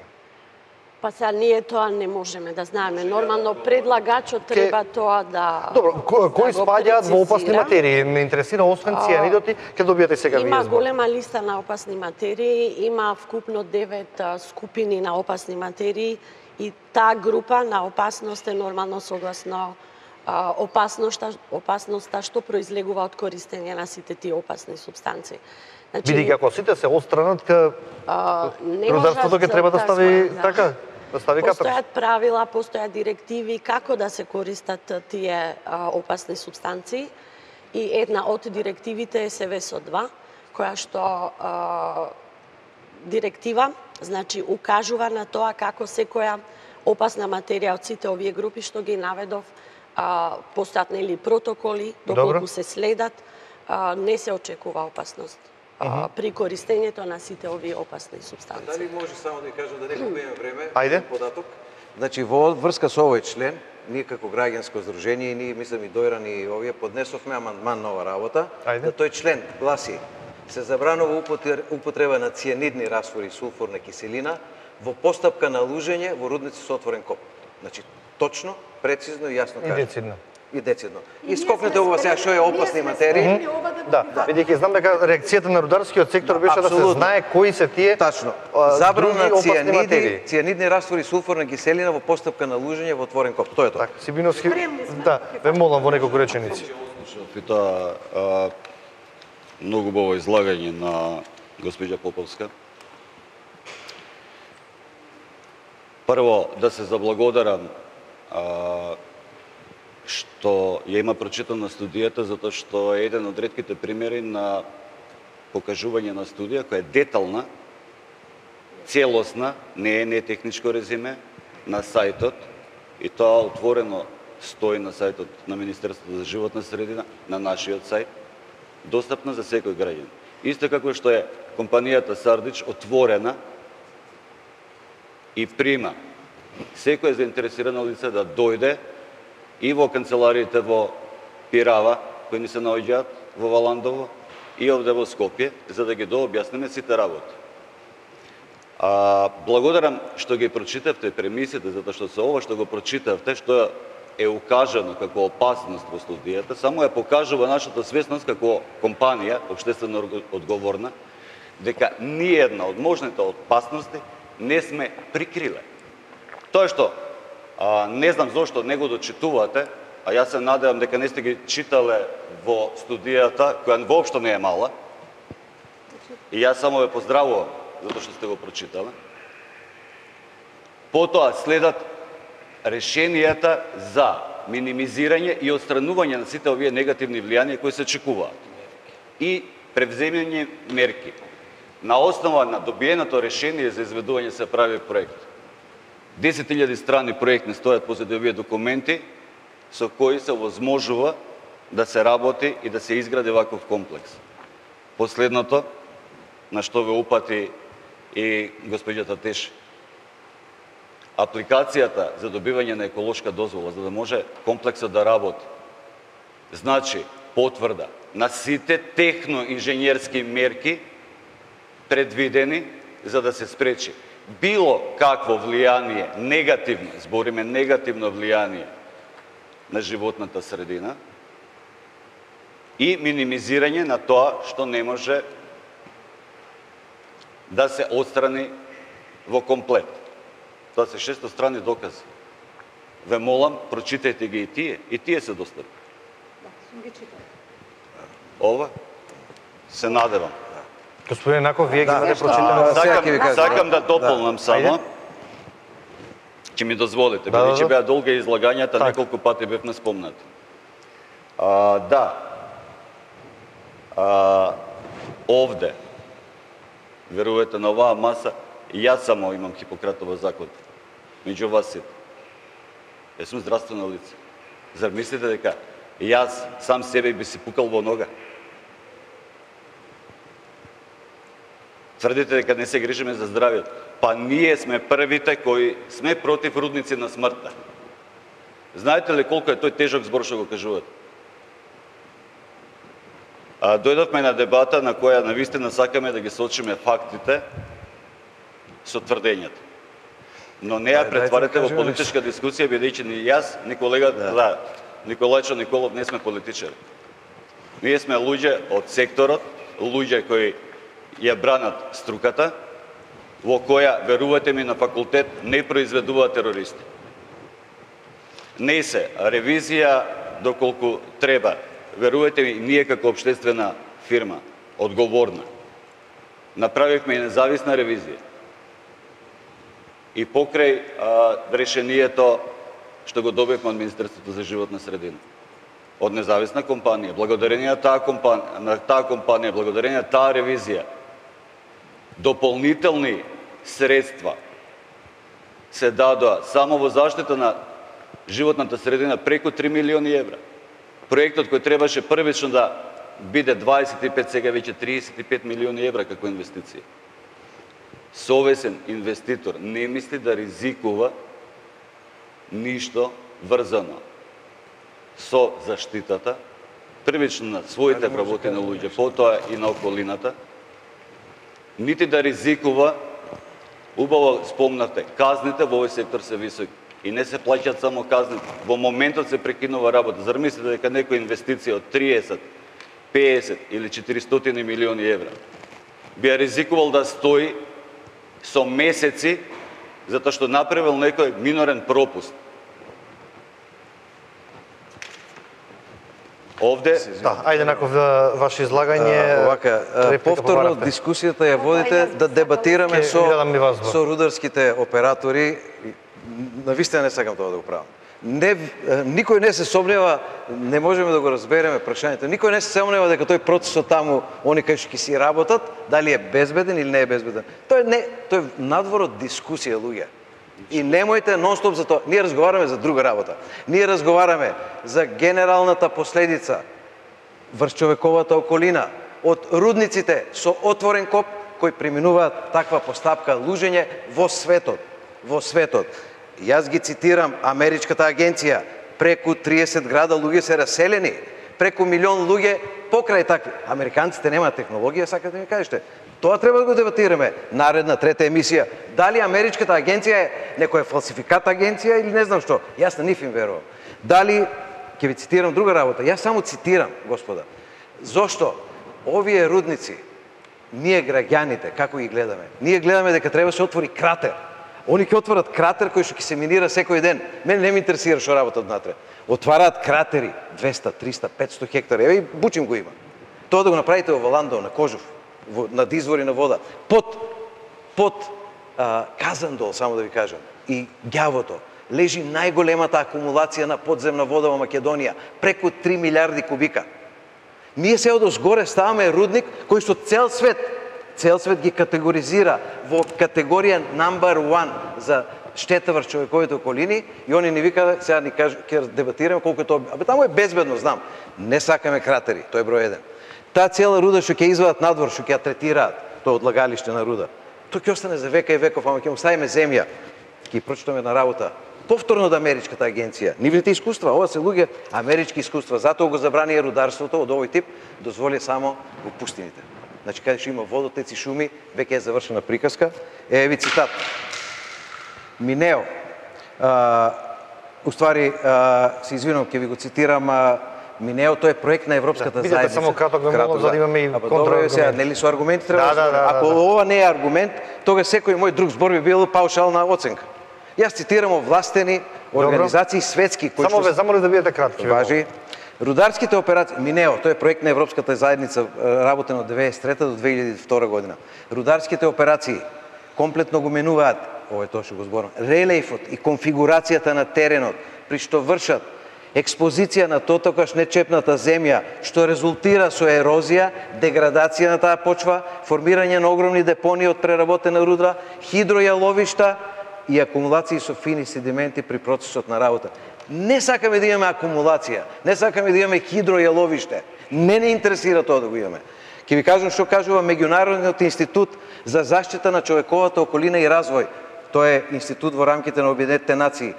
Па сега ние тоа не можеме да знаеме. Нормално предлагачот треба тоа да Добро, ко- кои да го спаѓаат во опасни прецизира. материи? Ме интересира освен цианидоти, ќе добиете сега вие Има збор. голема листа на опасни материи, има вкупно девет а, скупини на опасни материи и таа група на опасност е нормално согласно а, опасноста, опасноста што произлегува од користење на сите тие опасни супстанции. Значи, Бидејќи ако сите се отстранат, ка а, не рударството ќе можат треба да стави да. така, да стави капер. Постојат правила, постојат директиви како да се користат тие а, опасни супстанции и една од директивите е СВСО два, која што а, директива, значи укажува на тоа како секоја опасна материја од сите овие групи што ги наведов, а, постојат нели протоколи, доколку Добро. се следат, а, не се очекува опасност а, при користењето на сите овие опасни супстанции. Дали може само да ви кажам да не губиме време? Ајде. Податок. Значи во врска со овој член, ние како граѓанско здружение и ние мислам и Дојран и овие поднесовме амандман на ова работа, Ајде. да тој член гласи: се забранува употре- употреба на цианидни раствори и сулфурна киселина во постапка на лужење во рудници со отворен коп. Значи точно, прецизно и јасно И каже. децидно. И децидно. И скокнете ова сега што е опасни материи. Да, бидејќи знам дека реакцијата на рударскиот сектор беше да се Апсолутно. знае кои се тие Тачно. а, Забрана други на опасни цианиди, материи. цианидни раствори и сулфурна киселина во постапка на лужење во отворен коп. Тоа е тоа. Така, Сибиновски, да, ве молам во неколку реченици. И тоа а, многу убаво излагање на госпоѓа Поповска. Прво, да се заблагодарам а, што ја има прочитана студијата, затоа што е еден од ретките примери на покажување на студија која е детална, целосна, не е не техничко резиме, на сајтот, и тоа отворено стои на сајтот на Министерството за животна средина, на нашиот сајт, достапна за секој граѓанин. Исто како што е компанијата Сардич отворена и прима секој заинтересирано лице да дојде и во канцелариите во Пирава, кои ни се наоѓаат во Валандово, и овде во Скопје, за да ги дообјасниме сите работи. А, благодарам што ги прочитавте премисите, затоа што со ова што го прочитавте, што е укажано како опасност во студијата, само ја покажува нашата свесност како компанија, општествено одговорна, дека ниједна од можните опасности не сме прикриле. Тоа што а, не знам зошто не го дочитувате, а јас се надевам дека не сте ги читале во студијата, која воопшто не е мала, и јас само ве поздравувам затоа што сте го прочитале. Потоа следат решенијата за минимизирање и отстранување на сите овие негативни влијанија кои се очекуваат и превземање мерки. На основа на добиеното решение за изведување се прави проект. десет илјади страни проектни стојат позади овие документи со кои се возможува да се работи и да се изгради ваков комплекс. Последното, на што ве упати и госпоѓата Теши, апликацијата за добивање на еколошка дозвола, за да може комплексот да работи, значи потврда на сите техно-инженерски мерки предвидени за да се спречи било какво влијание, негативно, збориме негативно влијание на животната средина и минимизирање на тоа што не може да се отстрани во комплет. Тоа се шестостранни докази. Ве молам, прочитајте ги и тие, и тие се достапни. Ова се надевам. Господин Наков, вие ги Да, имате нешто, прочитано. а, сега ќе ви Сакам, кажам. сакам да дополнам само. Ајде. Ќе ми дозволите, Да, бидејќи да, да. беа долги излагањата, Так. неколку пати бевме спомнати. А, да. А, овде, верувате на оваа маса, и јас само имам Хипократова заклетва. Меѓу вас сите. Јас сум здравствено лице. Зар мислите дека јас сам себе би си пукал во нога? Тврдите дека не се грижиме за здравјето. Па ние сме првите кои сме против рудници на смртта. Знаете ли колку е тој тежок збор што го кажувате? А, дојдовме на дебата на која навистина сакаме да ги сочиме фактите со тврдењата. Но не ја Ајде, претварете дајте во кажеме политичка дискусија, бидејќи ни јас, ни колега, Да. да, Николајчо Николов не сме политичари. Ние сме луѓе од секторот, луѓе кои ја бранат струката, во која, верувате ми, на факултет не произведуваат терористи. Не се ревизија доколку треба. Верувате ми, ние како општествена фирма, одговорна, направивме и независна ревизија. И покрај а, решението што го добивме од Министерството за животна средина, од независна компанија, благодарение на таа компанија, на таа компанија, благодарение на таа ревизија, дополнителни средства се дадоа само во заштита на животната средина преку три милиони евра. Проектот кој требаше првично да биде дваесет и пет, сега веќе триесет и пет милиони евра како инвестиција. Совесен инвеститор не мисли да ризикува ништо врзано со заштитата, првично на своите вработени луѓе, потоа и на околината, нити да ризикува, убаво спомнавте, казните во овој сектор се високи и не се плаќаат само казните. Во моментот се прекинува работа. Зар мислите дека некоја инвестиција од триесет, песет или четиристотини милиони евра би ја ризикувал да стои со месеци затоа што направил некој минорен пропуст? Овде, Да, ајде наков да, ваше излагање. Овака, а, реплика повторно побарате. дискусијата ја водите да дебатираме Ке со ви дадам и вас, бо. со рударските оператори. Навистина не сакам тоа да го правам. Не, никој не се сомнева, не можеме да го разбереме прашањето. Никој не се сомнева дека тој процесот таму, они кај што ќе си работат, дали е безбеден или не е безбеден. Тој не, тој е надвор од дискусија, луѓе. И немојте нон-стоп за тоа. Ние разговараме за друга работа. Ние разговараме за генералната последица врз човековата околина од рудниците со отворен коп кои преминуваат таква постапка лужење во светот. Во светот. Јас ги цитирам Америчката агенција. Преку триесет града луѓе се раселени. Преку милион луѓе покрај такви. Американците немаат технологија, сакате да ми кажете. Тоа треба да го дебатираме. Наредна, трета емисија. Дали Америчката агенција е некоја фалсификат агенција или не знам што. Јас на нив им верувам. Дали, ќе ви цитирам друга работа. Јас само цитирам, господа. Зошто овие рудници, ние граѓаните, како ги гледаме? Ние гледаме дека треба да се отвори кратер. Они ќе отворат кратер кој што ќе се минира секој ден. Мене не ме интересира што работат внатре. Отвараат кратери двеста, триста, петсто хектари. Еве и Бучим го има. Тоа да го направите во Валандово, на Кожув, во, над извори на вода, под под а, Казандол, само да ви кажам, и Ѓавото, лежи најголемата акумулација на подземна вода во Македонија, преку три милиарди кубика. Ние се од озгоре ставаме рудник кој што цел свет Цел свет ги категоризира во категорија number one за штета врз човековите околини и они ни викаат, сега ни кажа, ќе дебатираме колку е тоа. Абе таму е безбедно, знам. Не сакаме кратери, тој е број еден. Таа цела руда што ќе извадат надвор, што ќе ја третираат, тоа одлагалиште на руда. Тоа ќе остане за века и веков, ама ќе му ставиме земја. Ќе прочитаме на работа. Повторно од Америчката агенција. Нивните искуства, ова се луѓе амерички искуства, затоа го забрани рударството од овој тип, дозволи само во пустините. Значи, каде што има водотеци, шуми, веќе е завршена приказка. Е, ви цитат. Минео. А, уствари, а, се извинувам, ќе ви го цитирам, а, Минео, тој е проект на Европската Бидете заедница. само краток, ве молам, за да имаме и контраргументи. Сега, нели со аргументи треба Да, да, да, Ако да, да. ова не е аргумент, тога секој мој друг збор би бил паушална оценка. Јас цитирам овластени организации светски кои Само ве замолив да бидете кратки. важи. Рударските операции, Минео, тој е проект на Европската заедница, работен од деветдесет и трета до две илјади и втора година. Рударските операции комплетно го менуваат, ова е тоа што го зборам, релефот и конфигурацијата на теренот, при што вршат експозиција на тотокаш нечепната земја, што резултира со ерозија, деградација на таа почва, формирање на огромни депонии од преработена руда, хидројаловишта и акумулации со фини седименти при процесот на работа. Не сакаме да имаме акумулација, не сакаме да имаме хидројаловиште. Не не интересира тоа да го имаме. Ќе ви кажам што кажува Меѓународниот институт за заштита на човековата околина и развој. Тоа е институт во рамките на Обединетите нации.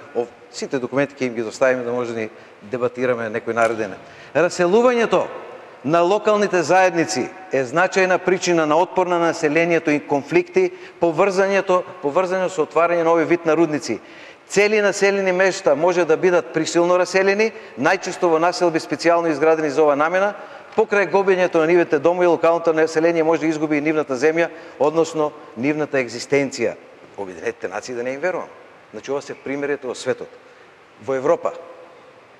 Сите документи ќе им ги доставиме да може да ни дебатираме некој нареден. Раселувањето на локалните заедници е значајна причина на отпор на населението и конфликти, поврзањето, поврзање со отварање на овој вид на рудници. Цели населени места може да бидат присилно раселени, најчесто во населби специјално изградени за ова намена. Покрај губењето на нивните домови, локалното население може да изгуби и нивната земја, односно нивната екзистенција. Обединетите нации да не им верувам. Значи, ова се примерите во светот. Во Европа,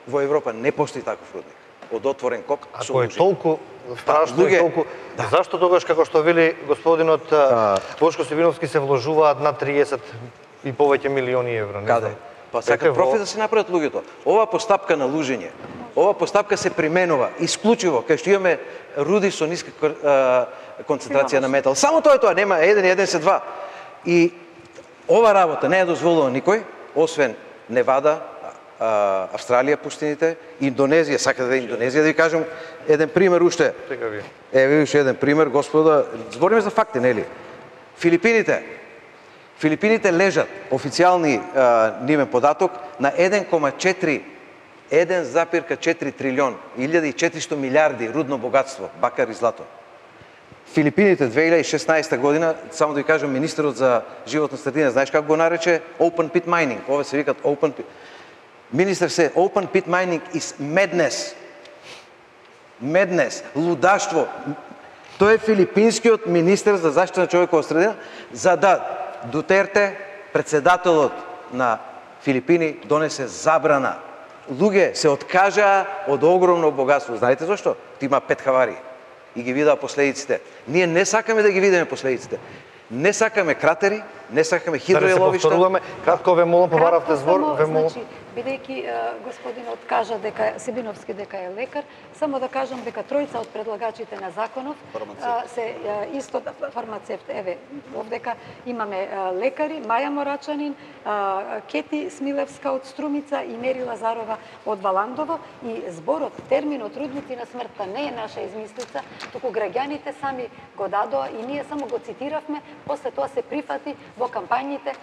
во Европа не постои таков рудник. Од отворен кок со Ако е толку страшно и толку... Зашто тогаш, како што вели господинот Бошко Сибиновски, се вложуваат на триесет и повеќе милиони евра? Каде? Па сакаат профит да се направат луѓето. Ова постапка на лужење, ова постапка се применува исклучиво кај што имаме руди со ниска концентрација на метал. Само тоа е тоа, нема еден и еден се два. И ова работа не е дозволила никој, освен Невада, Австралија, пуштините, Индонезија, сакате да е Индонезија, да ви кажем еден пример уште. Еве уште еден пример, господа, збориме за факти, нели? Филипините. Филипините лежат, официјални нивен податок, на еден кома четири еден запир четири трилион, илјада и четиристо милиарди рудно богатство, бакар и злато. Филипините две илјади и шеснаесета година, само да ви кажем, министерот за животна средина, знаеш како го нарече? Open pit mining. Ова се викат open pit. Министер се, open pit mining is madness. Madness, лудаштво. Тој е филипинскиот министер за заштита на човекова средина, за да Дутерте, председателот на Филипини, донесе забрана. Луѓе се откажаа од огромно богатство. Знаете зашто? Има пет хавари и ги видаа последиците. Ние не сакаме да ги видиме последиците. Не сакаме кратери, не сакаме хидроеловишта. Да се повторуваме, кратко ве молам, побаравте збор, ве молам. Значи, бидејќи господинот кажа дека Сибиновски дека е лекар, само да кажам дека тројца од предлагачите на законов се исто фармацевт. Еве, овдека имаме лекари, Маја Морачанин, Кети Смилевска од Струмица и Мери Лазарова од Валандово, и зборот, терминот рудници на смртта не е наша измислица, туку граѓаните сами го дадоа и ние само го цитиравме, после тоа се прифати во кампањите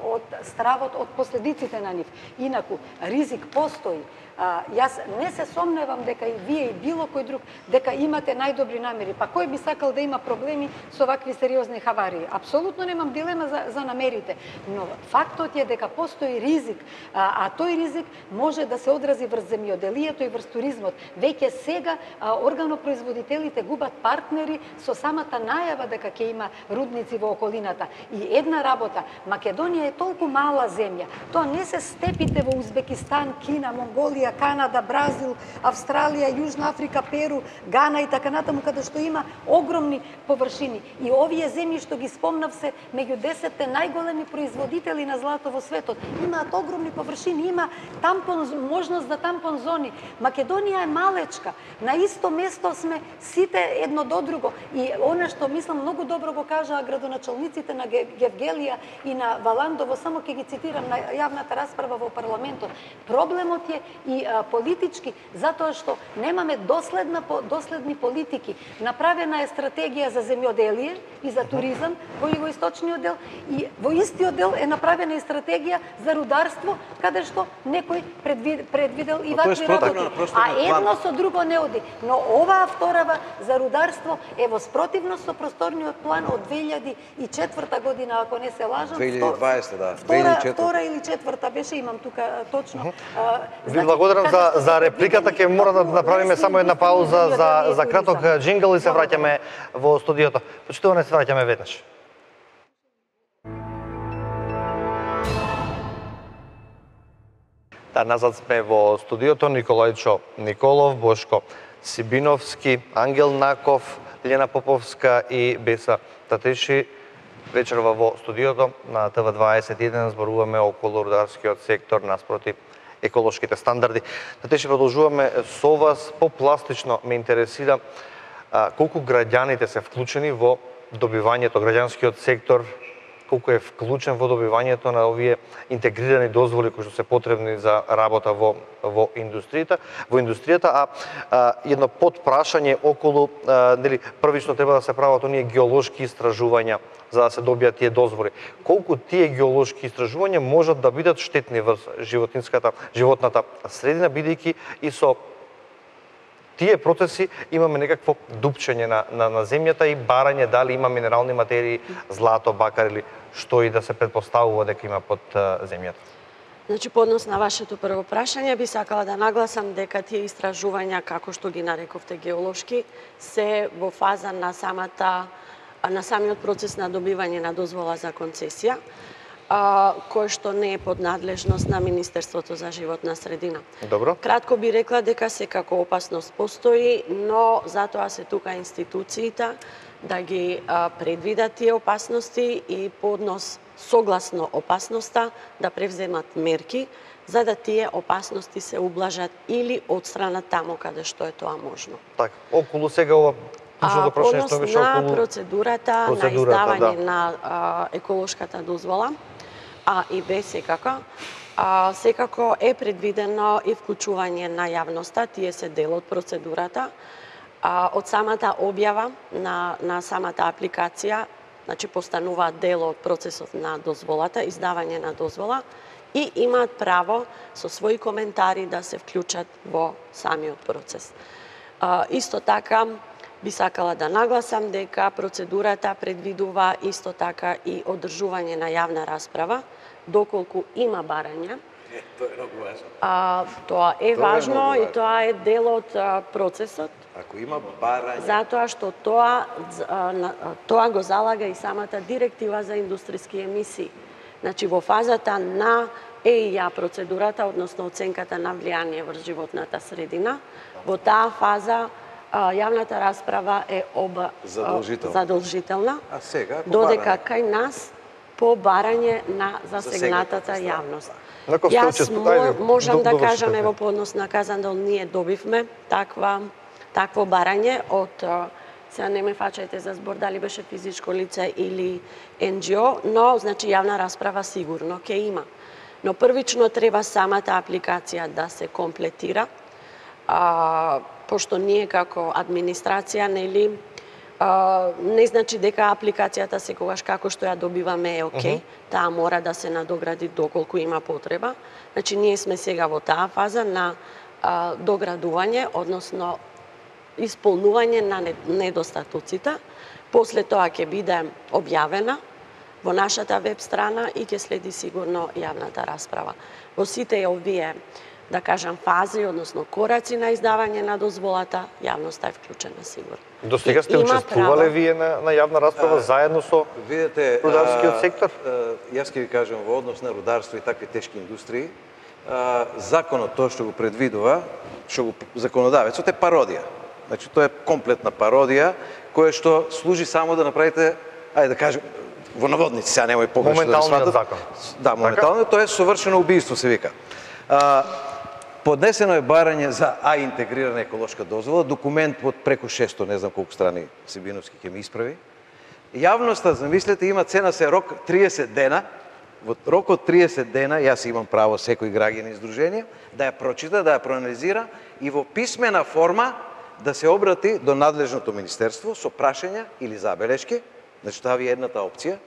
од стравот, од последиците на нив. Инаку, ризик постои. А, јас не се сомневам дека и вие и било кој друг дека имате најдобри намери. Па кој би сакал да има проблеми со вакви сериозни хаварии? Апсолутно немам дилема за, за намерите. Но фактот е дека постои ризик, а, а тој ризик може да се одрази врз земјоделието и врз туризмот. Веќе сега а, органопроизводителите губат партнери со самата најава дека ќе има рудници во околината. И една работа, Македонија е толку мала земја. Тоа не се степите во Узбекистан, Кина, Монголија, Канада, Бразил, Австралија, Јужна Африка, Перу, Гана и така натаму, каде што има огромни површини. И овие земји што ги спомнав се меѓу десетте најголеми производители на злато во светот. Имаат огромни површини, има тампон, можност за тампон зони. Македонија е малечка. На исто место сме сите едно до друго. И она што мислам многу добро го кажаа градоначалниците на Гевгелија и на Валандово, само ќе ги цитирам на јавната расправа во парламентот. Проблемот е и а, политички, затоа што немаме доследна, доследни политики. Направена е стратегија за земјоделие и за туризам во југоисточниот дел, и во истиот дел е направена и стратегија за рударство, каде што некој предвид, предвидел и вакви работи. А едно со друго не оди. Но оваа вторава за рударство е во спротивност со просторниот план од две илјади и четврта година, ако не се лажам. две илјади и дваесета, да. Втора, втора или четврта беше, имам тука точно. Ви благодарам за, за репликата, ќе мора да направиме само една пауза за, за краток джингл и се враќаме во студиото. Почитуване, се враќаме веднаш. Да, назад сме во студиото. Николајчо Николов, Бошко Сибиновски, Ангел Наков, Лена Поповска и Беса Татеши. Вечерва во студиото на Т В дваесет и еден зборуваме околу рударскиот сектор наспроти еколошките стандарди. Татеши, продолжуваме со вас. Попластично ме интересира а, колку граѓаните се вклучени во добивањето, граѓанскиот сектор, колку е вклучен во добивањето на овие интегрирани дозволи кои што се потребни за работа во во индустријата, во индустријата, а, а едно подпрашање околу а, нели првично треба да се прават оние геолошки истражувања за да се добијат тие дозволи. Колку тие геолошки истражувања можат да бидат штетни врз животинската животната средина, бидејќи и со тие процеси имаме некакво дупчење на, на, на земјата и барање дали има минерални материи, злато, бакар или што и да се предпоставува дека има под земјата. Значи, по однос на вашето прво прашање, би сакала да нагласам дека тие истражувања, како што ги нарековте геолошки, се во фаза на самата, на самиот процес на добивање на дозвола за концесија, кој што не е под надлежност на Министерството за животна средина. Добро. Кратко би рекла дека секако опасност постои, но затоа се тука институциите да ги предвидат тие опасности и по однос согласно опасноста да превземат мерки за да тие опасности се ублажат или отстранат таму каде што е тоа можно. Така, околу сега ова клучното прашање што беше околу процедурата, процедурата на издавање да. на а, еколошката дозвола, а и Б секако, а, секако е предвидено и вклучување на јавноста, тие се дел од процедурата, а, од самата објава на, на самата апликација, значи постануваат дел од процесот на дозволата, издавање на дозвола и имаат право со своји коментари да се вклучат во самиот процес. А, исто така, би сакала да нагласам дека процедурата предвидува исто така и одржување на јавна расправа, доколку има барање. Е, тоа е многу важно. А, тоа е тоа важно е и тоа е дел од а, процесот. Ако има барање... Затоа што тоа, а, тоа го залага и самата директива за индустријски емисии. Значи, во фазата на Е И Ја процедурата, односно оценката на влијание врз животната средина, во таа фаза јавната расправа е оба задолжителна. задолжителна, А сега, додека кај нас по барање на засегнатата јавност. Јас можам да кажам, ево по однос на Казандол, ние добивме таква, такво барање од, сега не ме фачајте за збор дали беше физичко лице или Ен Џи О, но значи јавна расправа сигурно ќе има. Но првично треба самата апликација да се комплетира, а, пошто ние како администрација, нели, а, не значи дека апликацијата секогаш како што ја добиваме е окей, uh -huh. таа мора да се надогради доколку има потреба. Значи ние сме сега во таа фаза на а, доградување, односно исполнување на недостатоците. После тоа ќе биде објавена во нашата веб страна и ќе следи сигурно јавната расправа. Во сите овие, да кажам, фази, односно кораци на издавање на дозволата, јавноста е вклучена сигурно. До сега сте учествувале право... вие на, на јавна расправа а, заедно со видите, рударскиот сектор? А, јас ќе ви кажам, во однос на рударство и такви тешки индустрии, а, законот тоа што го предвидува, што го законодавецот е пародија. Значи тоа е комплетна пародија која што служи само да направите, ајде да кажем, во наводници, сега немој погрешно да моменталниот закон. Да, моментално, тоа е совршено убиство се вика. А, поднесено е барање за А интегрирана еколошка дозвола, документ од преку шесто, не знам колку страни Сибиновски ќе ми исправи. Јавноста, замислете, има цена се рок триесет дена, во рок од триесет дена, јас имам право секој граѓанин издружение, да ја прочита, да ја проанализира и во писмена форма да се обрати до надлежното министерство со прашања или забелешки, значи тоа ви е едната опција.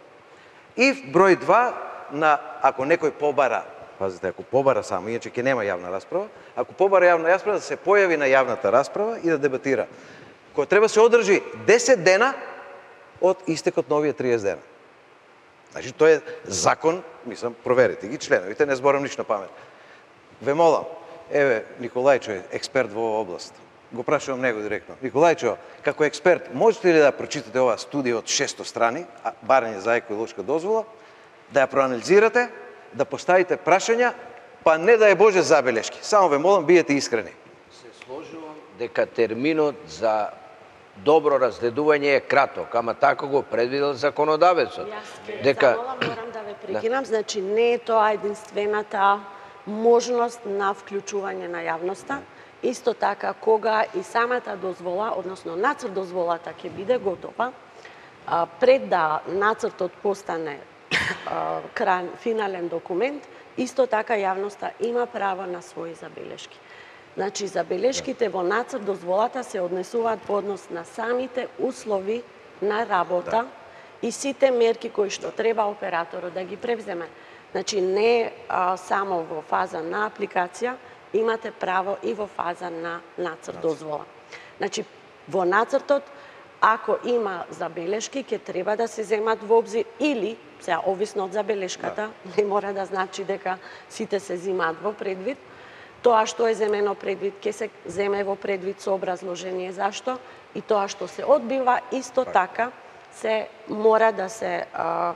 И број два, на ако некој побара, пазите, ако побара само, иначе ќе нема јавна расправа, ако побара јавна расправа, да се појави на јавната расправа и да дебатира. Кој треба се одржи десет дена од истекот на овие триесет дена. Значи, тоа е закон, мислам, проверите ги членовите, не зборам ништо памет. Ве молам, еве, Николајчо е експерт во оваа област. Го прашувам него директно. Николајчо, како експерт, можете ли да прочитате оваа студија од шесто страни, барање за еколошка дозвола, да ја проанализирате, да поставите прашања, па не да е Боже забелешки. Само ве молам, биете искрени. Се сложувам дека терминот за добро разгледување е краток, ама така го предвидел законодавецот. Јас дека замолам, морам да ве прекинам, да. Значи не е тоа единствената можност на вклучување на јавноста. Исто така, кога и самата дозвола, односно нацрт дозволата ќе биде готова, пред да нацртот постане крај, финален документ, исто така јавноста има право на своји забелешки. Значи, забелешките во нацрт дозволата се однесуваат по однос на самите услови на работа да. И сите мерки кои што треба операторот да ги превземе. Значи, не а, само во фаза на апликација, имате право и во фаза на нацрт дозвола. Значи, во нацртот, ако има забелешки, ќе треба да се земат во обзир или, сега, овисно од забелешката, не мора да значи дека сите се земат во предвид, тоа што е земено предвид ќе се земе во предвид со образложение зашто и тоа што се одбива исто така се мора да се а,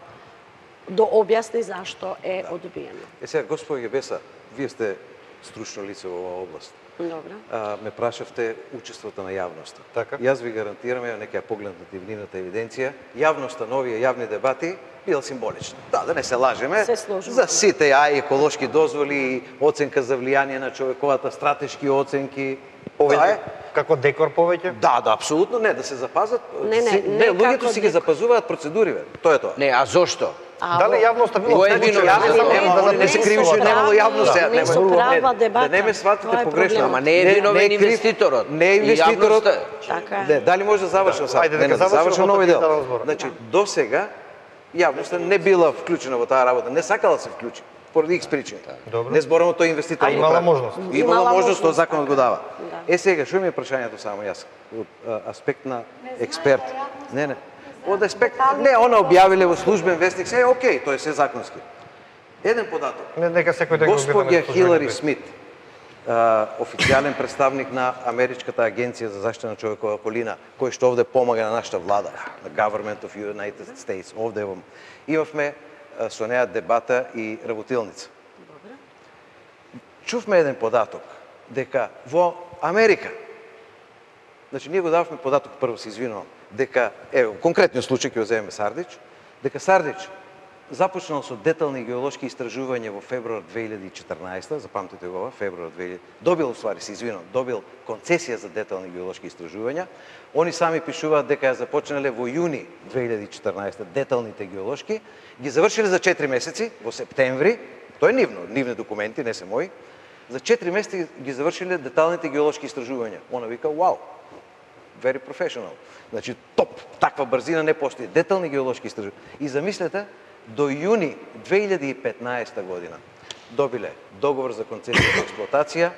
дообјасни зашто е одбиено. Е сега, господи Гебеса, вие сте стручно лице во оваа област. Добро. А, ме прашавте учеството на јавноста. Така. Јас ви гарантирам, ја нека ја погледнете нивната евиденција, јавноста на овие јавни дебати бил символична. Да, да не се лажеме. Се сложувам. За сите ја еколошки дозволи, оценка за влијание на човековата, стратешки оценки. Тоа е. Како декор повеќе? Да, да, апсолутно не, да се запазат. Не, не, си, не не луѓето како си ги декор. запазуваат процедури, бе. Тоа е тоа. Не, а зошто? А, Дали во- јавноста било Кој е вклучена? виновен? Не знам, Нема, да они не се запишува. кривеше, Да. немало јавност. Да, Не, не со права дебата. Да не ме сватите Тоа е погрешно. проблемот. Ама не е виновен крив- инвеститорот. Не е И инвеститорот. јавноста. Така е. Не, дали може да завршам сега? Ајде, Не, дека не, да заврши, завршам но нови потоа дел. ќе разборам. Значи, до сега јавноста не била вклучена во таа работа, не сакала да се вклучи поради икс причини. Добро. Не зборам тој инвеститор. А го имала прави. можност. Имала Имала можност, тоа можност, законот го така. дава. Да. Е сега, што ми е прашањето само јас од а, аспект на експерт. Не, не. Од аспект, не, она објавиле во службен вестник, се е окей, тоа е се законски. Еден податок. Не, нека секој да го Господја гледаме со Хилари службен Смит, а, официјален представник на Америчката агенција за заштита на човекова околина, кој што овде помага на нашата влада, на Government of United States, овде во имавме а, со неа дебата и работилница. Чувме еден податок дека во Америка, значи ние го дававме податок, прво се извинувам, дека ево конкретниот случај ќе го земеме Сардич, дека Сардич започнал со детални геолошки истражувања во февруар две илјади и четрнаесета, запамтете го ова, февруар две илјади, добил уствари се извинувам, добил концесија за детални геолошки истражувања. Они сами пишуваат дека ја започнале во јуни две илјади и четрнаесета деталните геолошки, ги завршиле за четири месеци во септември, тоа е нивно, нивни документи, не се мои. За четири месеци ги завршиле деталните геолошки истражувања. Она вика, вау, very professional. Значи, топ, таква брзина не постои. Детални геолошки истражувања. И замислете, до јуни две илјади и петнаесета година добиле договор за концесија за експлоатација,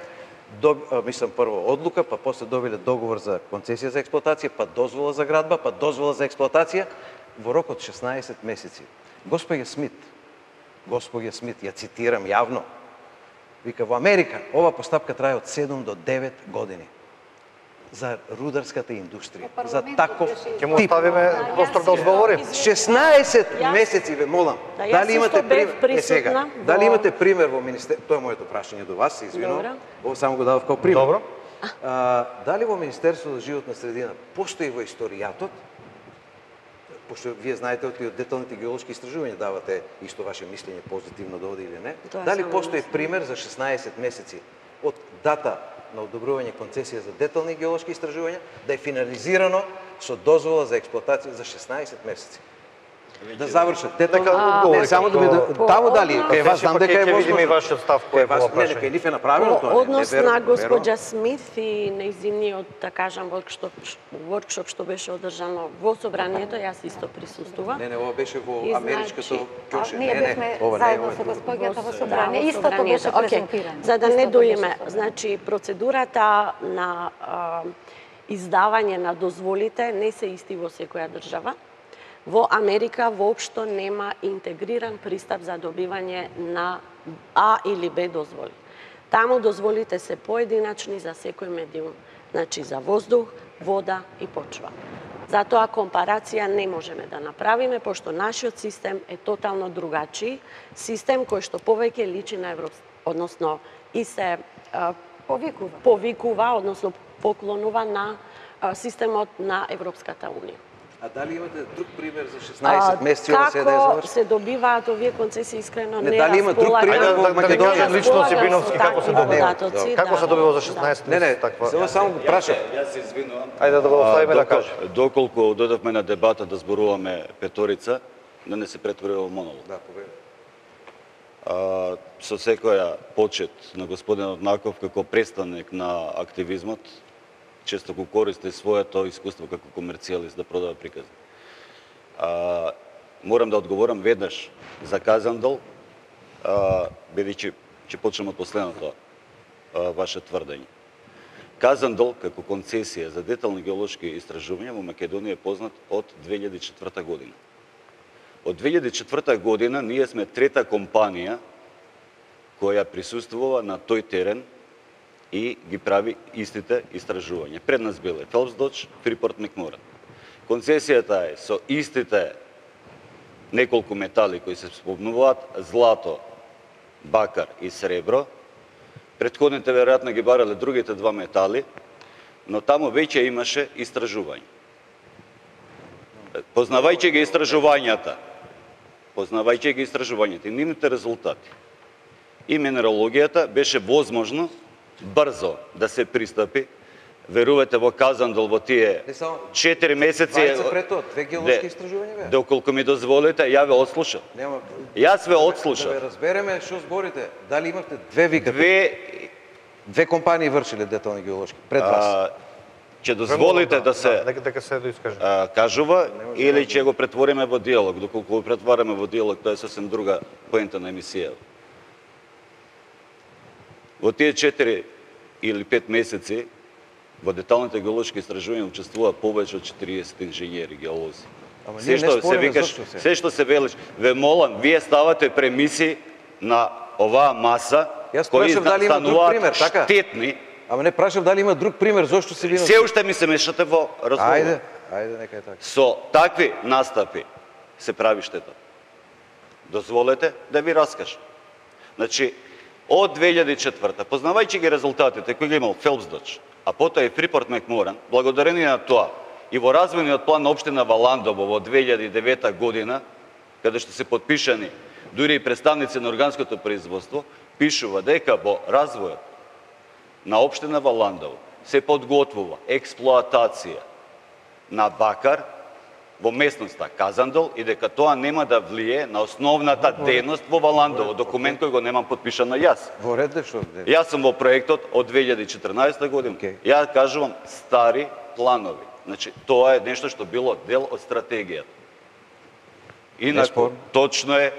доб, а, мислам прво одлука, па после добиле договор за концесија за експлоатација, па дозвола за градба, па дозвола за експлоатација во рок од шеснаесет месеци. Господја Смит, господја Смит, ја цитирам јавно, вика, во Америка ова постапка трае од седум до девет години за рударската индустрија, Во за парламентот таков беше Ќе му тип. оставиме простор да одговори. шеснаесет Јас- месеци ве молам. Да, јас Дали имате исто бев пример? Е сега, присутна дали во- имате пример во министер... Тоа е моето прашање до вас, се извинувам. Добро. Ово само го дадов као пример. Добро. А, дали во Министерството за животна средина постои во историјатот, пошто вие знаете од деталните геолошки истражувања давате исто ваше мислење позитивно да оди или не, Тоа дали само постои мислам. пример за шеснаесет месеци од дата на одобрување концесија за детални геолошки истражувања да е финализирано со дозвола за експлоатација за шеснаесет месеци? Да завршат детално, Нека одговори не само да би како- таму дали, По кај вас однос- знам дека е Ќе видиме возможно. и вашиот став кој е Кај вас, во не, не, прашање. кај нив е направено тоа, Во не, не однос верувам, на верувам. госпоѓа Смит и нејзиниот, да кажам, воркшоп, воркшоп што беше одржано во собранието, јас исто присуствувам. Не, не, ова беше во И америчкото значи, ќоше. Ние Не, не, бевме ова не е заедно ова. со госпоѓата во Да, собрание. во Истото беше собранието. Океј, презентирано. За да не Истото беше доиме, собрано. значи процедурата на а, издавање на дозволите не се исти во секоја држава. Во Америка воопшто нема интегриран пристап за добивање на А или Б дозволи. Таму дозволите се поединачни за секој медиум, значи за воздух, вода и почва. Затоа компарација не можеме да направиме, пошто нашиот систем е тотално другачи, систем кој што повеќе личи на Европ... односно и се а, Повикува. повикува, односно поклонува на а, системот на Европската Унија. А дали имате друг пример за шеснаесет месеци ова се да е Како завршено? се добиваат овие концесии, искрено Не, не дали има друг располагам- пример Ајде во да, да не Македонија? кажем лично располагам Сибиновски со како се такви добива. податоци, Како да, се добива за да. шеснаесет Не, не, месеци таква? само само го прашав. Јас се извинувам. Ајде да го оставиме А, да докол- каже. Доколку додавме на дебата да зборуваме петорица, да не се претвори во монолог. Да, повеќе. А, со секоја почет на господинот Наков како представник на активизмот, често го користи своето искуство како комерцијалист да продава приказни. А, морам да одговорам веднаш за Казандол, а, бидејќи ќе почнем од последното а, ваше тврдење. Казандол како концесија за детални геолошки истражувања во Македонија е познат од две илјади и четврта година. Од две илјади и четврта година ние сме трета компанија која присуствува на тој терен и ги прави истите истражувања. Пред нас биле Phelps Dodge, Freeport McMoran. Концесијата е со истите неколку метали кои се спомнуваат, злато, бакар и сребро. Претходните веројатно ги барале другите два метали, но таму веќе имаше истражување. Познавајќи ги истражувањата, познавајќи ги истражувањата и нивните резултати и минералогијата, беше возможно брзо да се пристапи. Верувате во Казандол во тие четири месеци. Двајца пред тоа, две геолошки истражувања беа. Доколку ми дозволите, ја ве отслушав. Нема. Јас ве отслушав. Да ве разбереме што зборите. Дали имавте две викате? Две Две компании вршиле детални геолошки пред вас. Ќе дозволите да се дека дека се доискаже. кажува или ќе го претвориме во диалог. Доколку го претвараме во диалог, тоа е сосем друга поента на емисија. Во тие четири или пет месеци во деталните геолошки истражувања учествува повеќе од четириесет инженери, геолози. Ама Се што се викаш, се што се велиш, ве молам, вие ставате премиси на оваа маса кои стануваат штетни. Ама не прашав дали има друг пример, зошто се вино? Се уште ми се мешате во разговор. Ајде, ајде, нека е така. Со такви настапи се прави штета. Дозволете да ви раскажам. Значи, од две илјади и четврта, познавајќи ги резултатите кои ги имал Phelps Dodge, а потоа и Freeport McMoran, благодарение на тоа и во развојниот план на општина Валандово во две илјади и девета година, каде што се подпишани дури и представници на органското производство, пишува дека во развојот на општина Валандово се подготвува експлоатација на бакар во местноста Казандол и дека тоа нема да влие на основната дејност во Валандово, документ кој го немам подпишан на јас. Во ред што? Јас сум во проектот од две илјади и четрнаесета година. Okay. Ја кажувам стари планови. Значи, тоа е нешто што било дел од стратегијата. Инаку, точно е,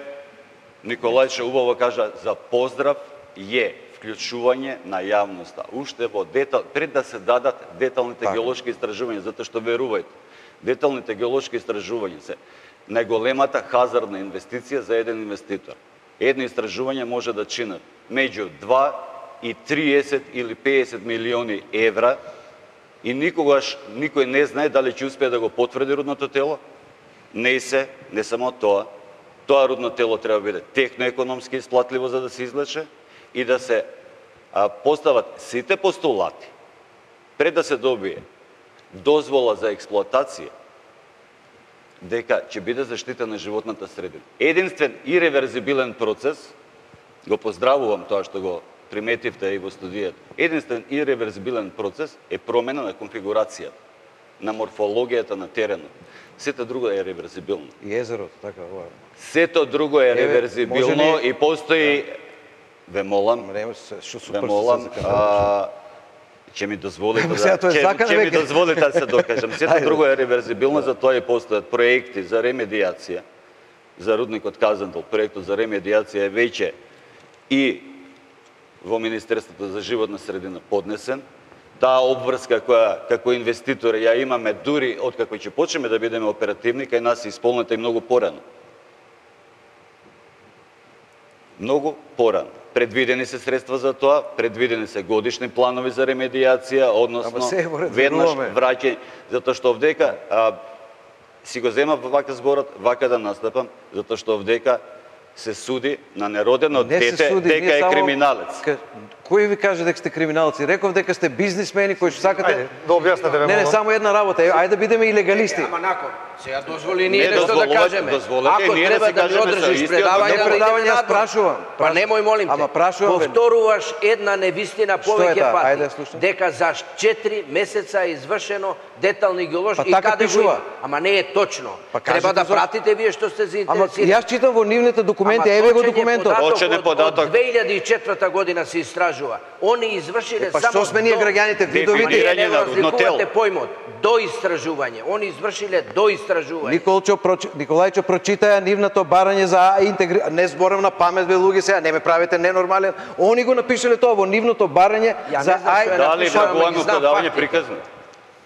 Николајче убаво кажа, за поздрав е вклучување на јавноста. Уште во детал, пред да се дадат деталните так. геолошки истражувања, затоа што верувајте, деталните геолошки истражувања се најголемата хазардна инвестиција за еден инвеститор. Едно истражување може да чинат меѓу два и триесет или пеесет милиони евра и никогаш никој не знае дали ќе успее да го потврди рудното тело. Не се, не само тоа, тоа рудно тело треба да биде техноекономски исплатливо за да се излече и да се а, постават сите постулати пред да се добие дозвола за експлоатација, дека ќе биде заштитена животната средина. Единствен и реверзибилен процес, го поздравувам тоа што го приметивте и во студијата, единствен и реверзибилен процес е промена на конфигурацијата, на морфологијата на теренот. Сето друго е реверзибилно. И езерото, така, ова. Сето друго е реверзибилно ли... и постои, ве молам, ве молам, а, ќе ми дозволите да, ќе ми дозволите да се докажам. Сето друго е реверзибилно, за тоа и постојат проекти за ремедијација, за рудникот Казандол, проектот за ремедијација е веќе и во Министерството за животна средина поднесен. Таа обврска која како инвеститори ја имаме дури од како ќе почнеме да бидеме оперативни, кај нас е исполнета и многу порано. Многу порано. Предвидени се средства за тоа, предвидени се годишни планови за ремедијација, односно веднаш враќање, затоа што овдека а, си го земав вака зборот, вака да настапам, затоа што овдека се суди на неродено дете дека е криминалец. Кој ви каже дека сте криминалци? Реков дека сте бизнисмени кои што сакате. Ајде, да објасните ве. Не, не, само една работа. Ајде да бидеме и легалисти. Ама након. Сега дозволи ние нешто да кажеме. Ако треба да ми одржиш предавање, не предавање, јас прашувам. Па немој молим те. Ама прашувам. Повторуваш една невистина повеќе пати. Дека за четири месеца е извршено детални геолошки и каде го има. Ама не е точно. Треба да пратите вие што сте заинтересирани. Ама јас читам во нивните документи, еве го документот. Очен податок. Од две илјади и четврта година се истражува. Они извршиле само што сме ние граѓаните видовите на рудно тело. Појмот до истражување. Они извршиле до истражување. истражување. Николчо прочи, Николајчо прочитаја нивното барање за интегри... Не зборам на памет, бе, луѓе, сега не ме правите ненормален. Они го напишале тоа во нивното барање за ај... Дали многуано продавање приказно?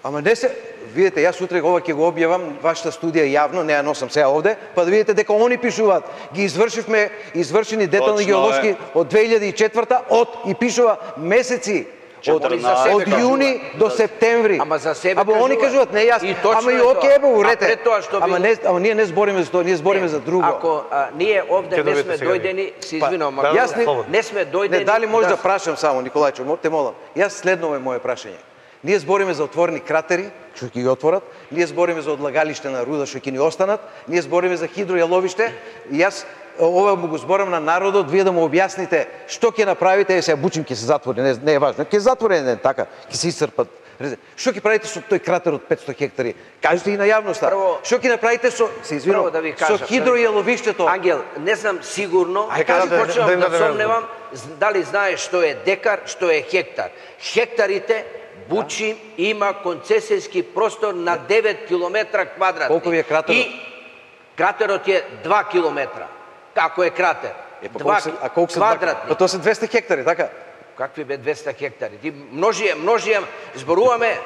Ама не се... Видите, јас утре ова ќе го објавам, вашата студија јавно, не ја носам сега овде, па да видите дека они пишуваат. Ги извршивме извршени детални геолошки од две илјади и четврта, од и пишува месеци. Од, од јуни до септември. Ама за себе Ама они кажуваат, не јас, и ама и оке, бе, урете. Ама, не, ама ние не збориме за тоа, ние збориме за друго. Ако а, ние овде не сме дојдени, се извинувам, ама јас не, не сме дојдени... Не, дали може да, да прашам само, Николајчо, те молам. Јас следново е моје прашање. Ние збориме за отворени кратери, што ќе ги отворат, ние збориме за одлагалиште на руда што ќе ни останат, ние збориме за хидројаловиште, и јас ова му го зборам на народот, вие да му објасните што ќе направите, е сега бучим ќе се затвори, не, не е важно, ќе затвори не така, ќе се исцрпат. Што ќе правите со тој кратер од петсто хектари? Кажете и на јавноста. Што ќе направите со, се извинувам, да со хидројаловиштето? Ангел, не знам сигурно, Ај, кажи, почнувам да сомневам, дали знаеш што е декар, што е хектар. Хектарите Бучим има концесијски простор на девет километра квадратни. Колку ви е кратерот? И кратерот е два километра. Како е кратер? Е, па два се, а колку се квадратни? Па тоа се двесте хектари, така? Какви бе двесте хектари? Ти множијам, множијам, зборуваме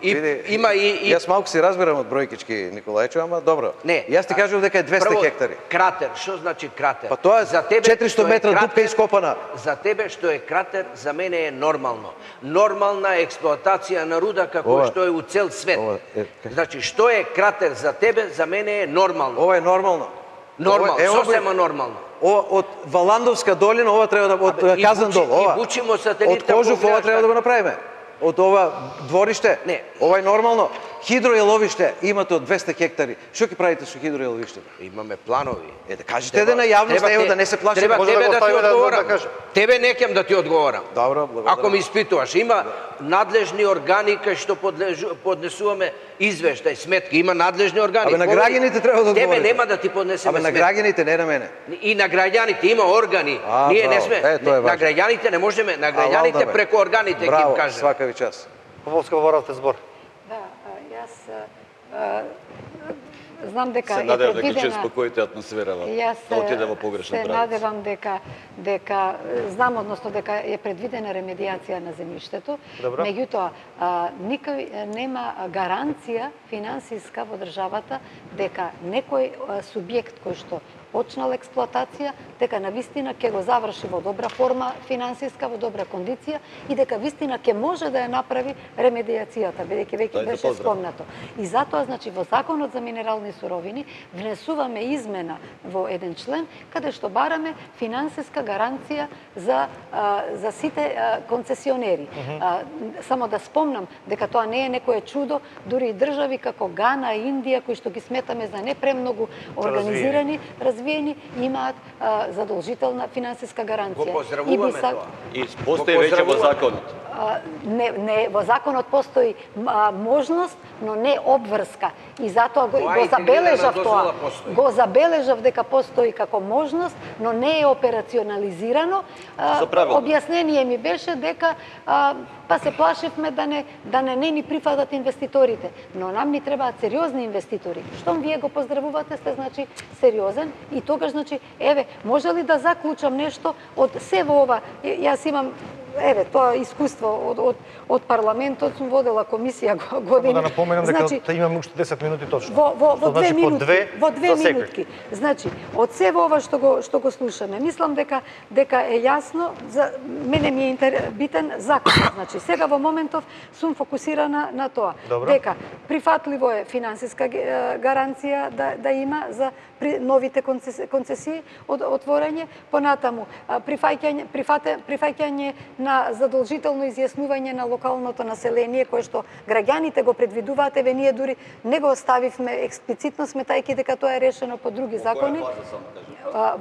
и Види, има и, и... Јас малку си разбирам од бројкички, Николајчо, ама добро. Не. Јас ти кажувам дека е двесте прво, хектари. Кратер, што значи кратер? Па тоа е за тебе, четиристо метра кратер, дупка ископана. За тебе што е кратер, за мене е нормално. Нормална експлоатација на руда како ова, што е у цел свет. Ова, е, значи, што е кратер за тебе, за мене е нормално. Ова е нормално. Нормално, е, сосема нормално. Ова од Валандовска долина, ова треба да од Абе, Казандол, бучи, ова. И бучимо сателите. Од Кожух ова треба да го направиме. Од ова двориште, не. Ова е нормално. Хидројаловиште имате од двесте хектари. Што ќе правите со хидројаловиштето? Имаме планови. Е, да кажете да на јавност, ево да не се плашите. Треба Може тебе да да, го ти оставиме одговорам. да, да Тебе некем да ти одговорам. Добро, благодарам. Ако ме испитуваш, има надлежни органи кај што подлежу, поднесуваме извештај, сметки, има надлежни органи. Абе на граѓаните треба да одговорите. Тебе нема да ти поднесеме сметки. Абе на граѓаните, не на мене. И на граѓаните има органи. А, Ние браво. не сме е, не, на граѓаните не можеме, на граѓаните преку органите ќе им кажеме. Свака ви час. Поволска воравте збор. Да, јас а, знам дека се е надевам дека предвидена... ќе успокоите атмосферава, да отиде во погрешен се правец. надевам дека, дека, знам односно дека е предвидена ремедиација на земјиштето, меѓутоа никој нема гаранција финансиска во државата дека некој субјект кој што почнал експлоатација, дека на вистина ќе го заврши во добра форма финансиска, во добра кондиција и дека вистина ќе може да ја направи ремедиацијата, бидејќи веќе беше спомнато. И затоа, значи, во Законот за минерални суровини внесуваме измена во еден член, каде што бараме финансиска гаранција за, а, за сите а, концесионери. Uh-huh. а, само да спомнам дека тоа не е некое чудо, дури и држави како Гана, Индија, кои што ги сметаме за не премногу организирани, развиени, имаат а, задолжителна финансиска гаранција. Го поздравуваме са... тоа. И постои веќе во законот. А, не, не, во законот постои а, можност, но не обврска. И затоа го, го забележав тоа. Го забележав дека постои како можност, но не е операционализирано. А, објаснение ми беше дека а, па се плашевме да не да не, не ни прифатат инвеститорите, но нам ни требаат сериозни инвеститори. Штом вие го поздравувате, сте значи сериозен и тогаш значи еве, може ли да заклучам нешто од се во ова? Јас имам еве, тоа искуство од, од, од парламентот, сум водела комисија години. Да напоменам дека значи, имаме уште десет минути точно. Во, во, во две значи, минутки, две во две минутки. Значи, од се во ова што го што го слушаме, мислам дека дека е јасно, за мене ми е интер, битен закон. Значи, сега во моментов сум фокусирана на тоа. Добро. Дека прифатливо е финансиска гаранција да да има за при новите концесии од отворање, понатаму прифаќање прифате прифаќање на задолжително изјаснување на локалното население кое што граѓаните го предвидуваат, еве ние дури не го оставивме експлицитно сметајќи дека тоа е решено по други закони.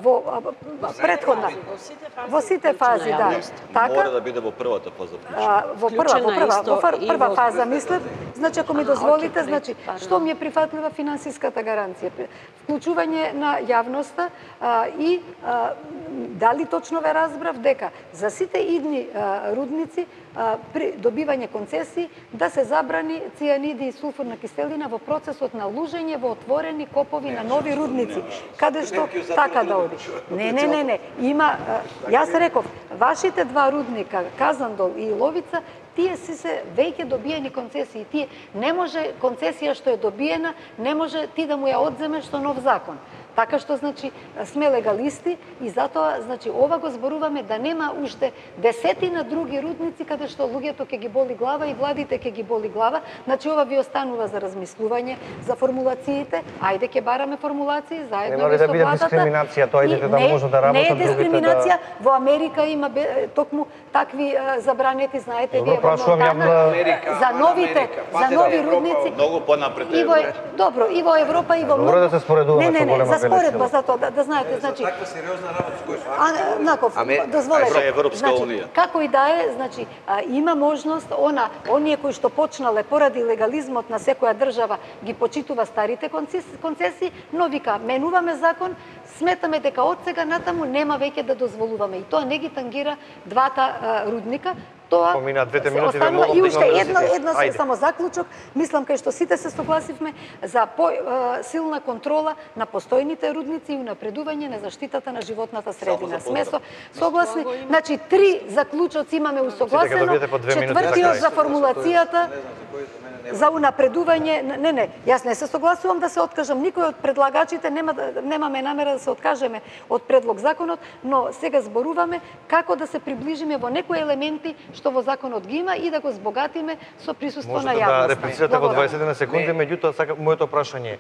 Во претходна во сите фази, да. Така мора да биде во првата фаза. Во прва, во прва, во прва фаза мислев, значи ако ми дозволите, значи што ми е прифатлива финансиската гаранција, вклучување на јавноста а, и а, дали точно ве разбрав дека за сите идни а, рудници а, при добивање концесии да се забрани цијаниди и сулфурна киселина во процесот на лужење во отворени копови на нови рудници, каде што така да оди. Не, не, не, не. Има, а, јас реков, вашите два рудника, Казандол и Иловица, тие си се веќе добиени концесии. Тие не може концесија што е добиена, не може ти да му ја одземеш со нов закон. Така што, значи, сме легалисти и затоа, значи, ова го зборуваме да нема уште десетина други рудници каде што луѓето ќе ги боли глава и владите ќе ги боли глава. Значи, ова ви останува за размислување, за формулациите. Ајде ќе бараме формулации заедно Нема ли со да биде владата. дискриминација, тоа идете да може да работат другите. Не е другите дискриминација. да... Во Америка има токму такви забранети, знаете, Добро, вие во прашувам Монтана, ја за новите, за нови рудници. Многу понапред И во, добро, и во Европа, и во Добро многу... да се споредуваме Не, не, со не, голема за споредба, велесила. за тоа, да, да знаете, значи... Таква сериозна работа кој што... А, Наков, Аме- дозволете. Ајде, Европска Значи, унија. како и да е, значи, а, има можност, она, оние кои што почнале поради легализмот на секоја држава ги почитува старите концесии, концесии, но вика, менуваме закон, сметаме дека од сега натаму нема веќе да дозволуваме. И тоа не ги тангира двата а, рудника, тоа Помина двете се минути, ве останува. молам И да уште имаме едно, да едно Ајде. само заклучок, мислам кај што сите се согласивме за по, а, силна контрола на постојните рудници и унапредување на заштитата на животната средина. Сме со, согласни, значи три заклучоци имаме усогласено, добиете по две минути за четвртиот крај. за формулацијата за унапредување, не, не, јас не се согласувам да се откажам, никој од предлагачите нема, да- немаме намера да се откажеме од предлог законот, но сега зборуваме како да се приближиме во некои елементи што во законот ги има и да го збогатиме со присуство на Можете да јавноста. реплицирате во Благодарам. дваесет на секунди, Не. меѓутоа сака моето прашање е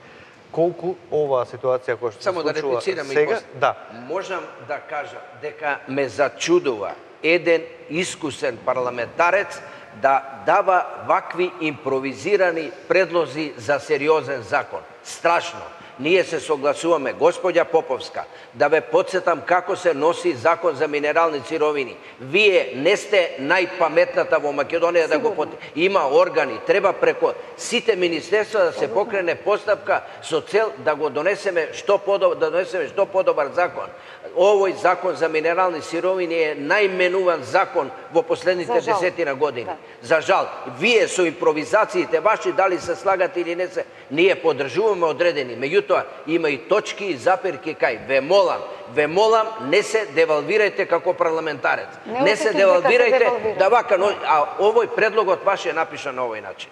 колку оваа ситуација која што се Само да случува реплицирам и сега, после. да, Можам да кажам дека ме зачудува еден искусен парламентарец да дава вакви импровизирани предлози за сериозен закон. Страшно. Ние се согласуваме, господја Поповска, да ве подсетам како се носи закон за минерални сировини. Вие не сте најпаметната во Македонија да го пот... Има органи, треба преко сите министерства да се покрене постапка со цел да го донесеме што подобар, да донесеме што подобар закон. Овој закон за минерални сировини е најменуван закон во последните За жал. десетина години. Да. За жал, вие со импровизациите ваши дали се слагат или не се, ние поддржуваме одредени. Меѓутоа, има и точки и заперки кај. Ве молам, ве молам, не се девалвирајте како парламентарец. Не Не се осетив дека се девалвирајте девалвирам. да вака, но, а овој предлогот ваш е напишан на овој начин.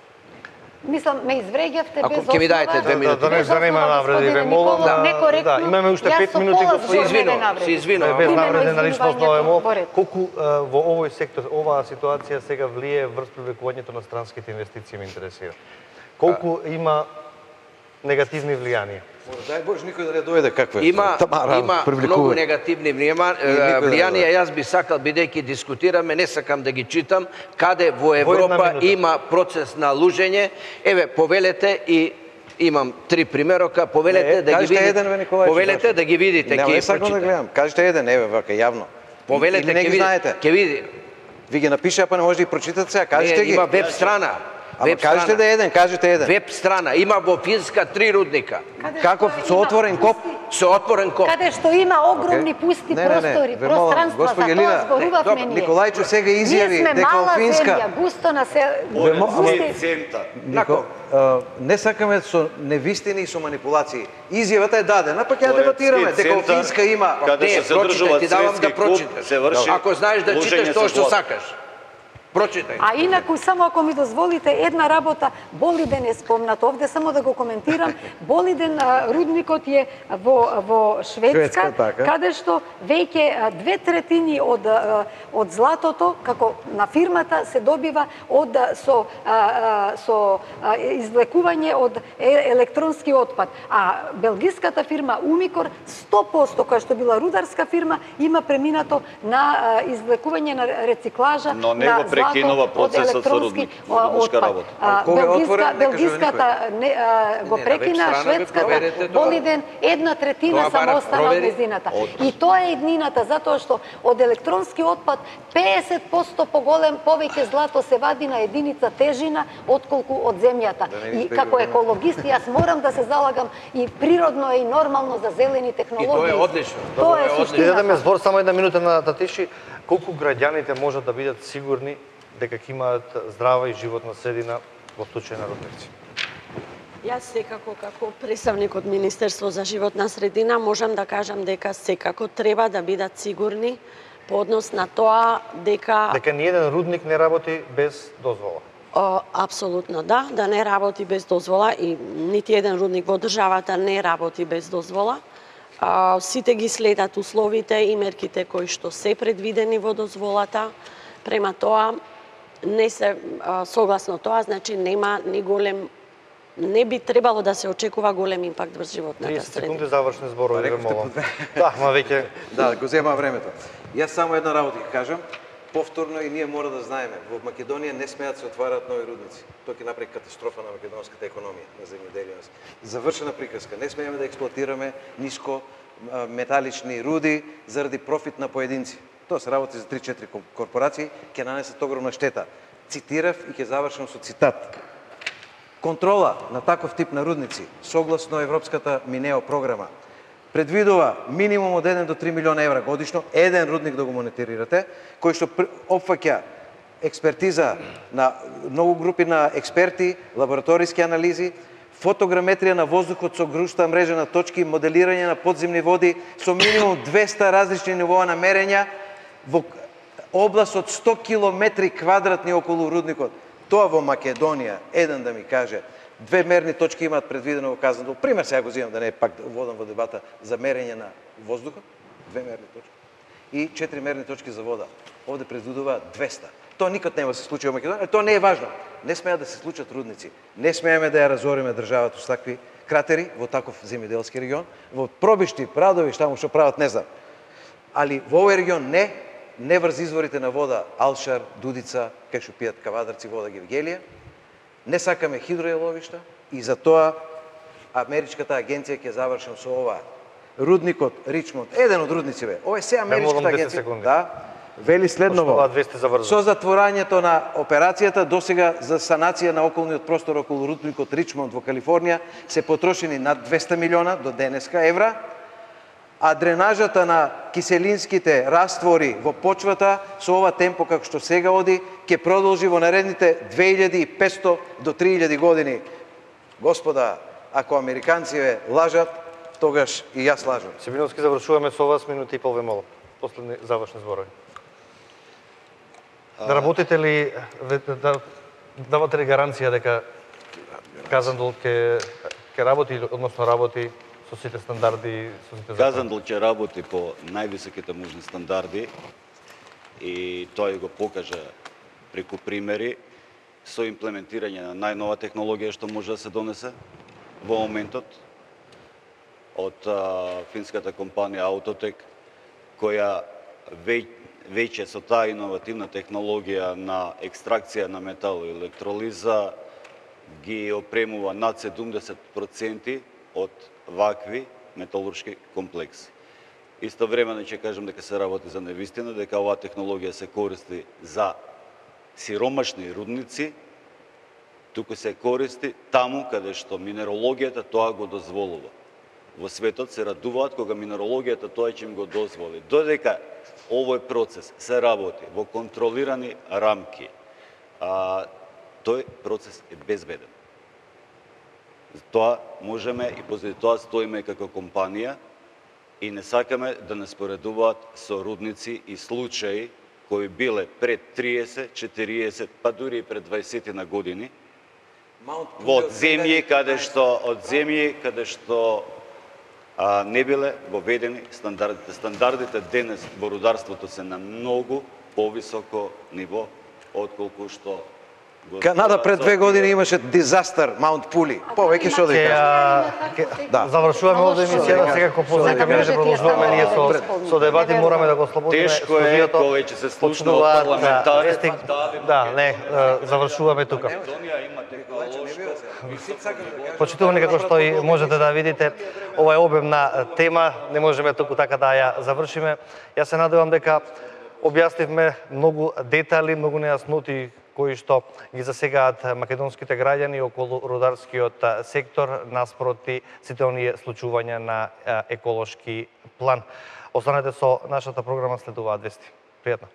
Мислам, ме извреѓавте Ако без ќе ми основа. даете две да, минути. да не Без занема основа, навреди, ве господине молам Николов, да, некоректно. да, имаме уште Јас пет со минути, пола господин Се збор ме извинувам, навреди. се извинувам. без Имено навреди на личносно извинувањето емо, во ред. колку а, во овој сектор оваа ситуација сега влие врз привлекувањето на странските инвестиции ме интересира. Колку има негативни влијанија? Дај Боже, никој да не дојде каква е. Има, Тамара, има привлекува. многу негативни влијама- И никој да не влијанија. дојде. Јас би сакал, бидејќи дискутираме, не сакам да ги читам, каде во една Европа минута. има процес на лужење. Еве, повелете и имам три примерока, повелете Не, да ги кажете видите. еден, бе, Николајче, Повелете зашто? да ги видите, Не, ќе не ги сакам да прочитам. гледам. Кажете еден, еве, вака јавно. Повелете, Или не ќе ги видите. знаете. Ќе види. Ви ги напишаа, па не може да ги прочитате сега. Кажете Не, ги. има веб страна. Ама Веб кажете страна. да е еден, кажете еден. Веб страна. Има во Финска три рудника. Каде Како што со има отворен коп? пусти- Со отворен коп. Каде што има огромни Океј. пусти Не, не, не, простори, ве молам, пространства, за госпоѓа тоа Елина, зборувавме добро, ние. Николајчо сега изјави Ние сме дека мала во Финска- земја, густо насел... Ве мо- густи- цента. Нико, а, не сакаме со невистини и со манипулации. Изјавата е дадена, па ќе ја дебатираме дека во центар, Финска има каде Не, се се прочитай, одржува ти давам да светски куп, прочиташ. се врши Ако знаеш да лужење читаш со тоа што вода. сакаш. Прочитај. А инаку, само ако ми дозволите, една работа, Болиден е спомнат овде, само да го коментирам. Болиден а, рудникот е во, во Шведска, Шведска, така. каде што веќе а, две третини од, а, од златото, како на фирмата, се добива од, а, со, а, а, со а, извлекување од е- електронски отпад. А белгиската фирма Умикор, сто проценти, која што била рударска фирма, има преминато на а, извлекување на рециклажа Но не на го прекинете прекинува процесот со рудник, рудничка работа. Кога е отворен, нека Белгиската не, а, го Не, на прекина, веб страна шведската проверете тоа. Болиден една третина Тоа само бара, остана од провери. незината. И тоа е иднината, затоа што од електронски отпад педесет проценти поголем повеќе злато се вади на единица тежина отколку од земјата. Да не ви И избегуваме. како екологист јас морам да се залагам и природно е и нормално за зелени технологии. И тоа е одлично. Тоа Тоа е е одлично. Ќе суштината. дадеме збор само една минута на Татиши. Колку граѓаните можат да бидат сигурни дека ќе имаат здрава и животна средина во случај на рудници? Јас секако како представник од Министерство за животна средина можам да кажам дека секако треба да бидат сигурни по однос на тоа дека Дека ниеден рудник не работи без дозвола. О, апсолутно да, да не работи без дозвола и нити еден рудник во државата не работи без дозвола. А, сите ги следат условите и мерките кои што се предвидени во дозволата. Према тоа не се а, согласно тоа, значи нема ни голем не би требало да се очекува голем импакт врз животната триесет средина. секунди завршни зборови, ве рековте молам. по две. Да, ма веќе Да, го зема времето. Јас само една работа ќе кажам. Повторно и ние мора да знаеме, во Македонија не смеат да се отварат нови рудници. Тоа ќе направи катастрофа на македонската економија, на земјоделието. Завршена приказка. Не смееме да експлоатираме ниско а, металични руди заради профит на поединци. Тоа се работи за три-четири корпорации, ќе нанесат огромна штета. Цитирав и ќе завршам со цитат. Контрола на таков тип на рудници, согласно Европската Минео програма, предвидува минимум од еден до три милиона евра годишно, еден рудник да го мониторирате, кој што опфаќа експертиза на многу групи на експерти, лабораториски анализи, фотограметрија на воздухот со грушта мрежа на точки, моделирање на подземни води со минимум двеста различни нивоа на мерења во област од сто километри квадратни околу рудникот. Тоа во Македонија, еден да ми каже, две мерни точки имаат предвидено во казано. Пример сега го земам да не пак водам во дебата за мерење на воздухот, две мерни точки и четири мерни точки за вода. Овде предвидува двеста. Тоа никад нема да се случи во Македонија, тоа не е важно. Не смеат да се случат рудници. Не смееме да ја разориме државата со такви кратери во таков земјоделски регион, во пробишти, прадови, што му што прават, не знам. Али во овој регион не, не врз изворите на вода Алшар, Дудица, кај што пијат кавадарци вода Гевгелија. Не сакаме хидроеловишта и за тоа Америчката агенција ќе завршам со ова. Рудникот Ричмонд, еден од рудниците, ова е се Америчката агенција. Да, вели следново. Со затворањето на операцијата досега за санација на околниот простор околу рудникот Ричмонд во Калифорнија се потрошени над двеста милиона до денеска евра, а дренажата на киселинските раствори во почвата со ова темпо како што сега оди ќе продолжи во наредните две илјади и петсто до три илјади години. Господа, ако американците лажат, тогаш и јас лажам. Симиновски, завршуваме со вас минути и пол, ве молам. Последни завршни зборови. Да работите ли, да давате ли гаранција дека Казандол ќе ќе работи, односно работи со сите стандарди, со сите закони? Казандол ќе работи по највисоките можни стандарди и тој го покажа преку примери со имплементирање на најнова технологија што може да се донесе во моментот од а, финската компанија Autotech, која веќе веќе со таа иновативна технологија на екстракција на метал и електролиза ги опремува над седумдесет проценти од вакви металуршки комплекси. Истовремено ќе кажам дека се работи за невистина, дека оваа технологија се користи за сиромашни рудници, туку се користи таму каде што минерологијата тоа го дозволува. Во светот се радуваат кога минерологијата тоа ќе им го дозволи. Додека овој процес се работи во контролирани рамки, а, тој процес е безбеден. Тоа можеме и позади тоа стоиме како компанија и не сакаме да не споредуваат со рудници и случаи кои биле пред триесет, четириесет, па дури и пред дваесет на години, во земји каде што од земји каде што а, не биле воведени стандардите. Стандардите денес во рударството се на многу повисоко ниво отколку што Канада пред две години имаше дизастер Маунт Пули. Повеќе што да Ќе, кажам. а, ќе- Да. Завршуваме овде емисијата, сега ко познака ми да продолжуваме ние со со дебати, мораме да го слободиме Тешко е студиото. кога ќе се слушна од Почнуваат, парламентари. вести- Да, не, а, завршуваме тука. Македонија има технолошко. Почитувани, како што и можете да видите, ова е обемна тема, не можеме туку така да ја завршиме. Јас се надевам дека објаснивме многу детали, многу нејасноти кои што ги засегаат македонските граѓани околу рударскиот сектор наспроти сите оние случувања на еколошки план. Останете со нашата програма, следуваат вести. Пријатно.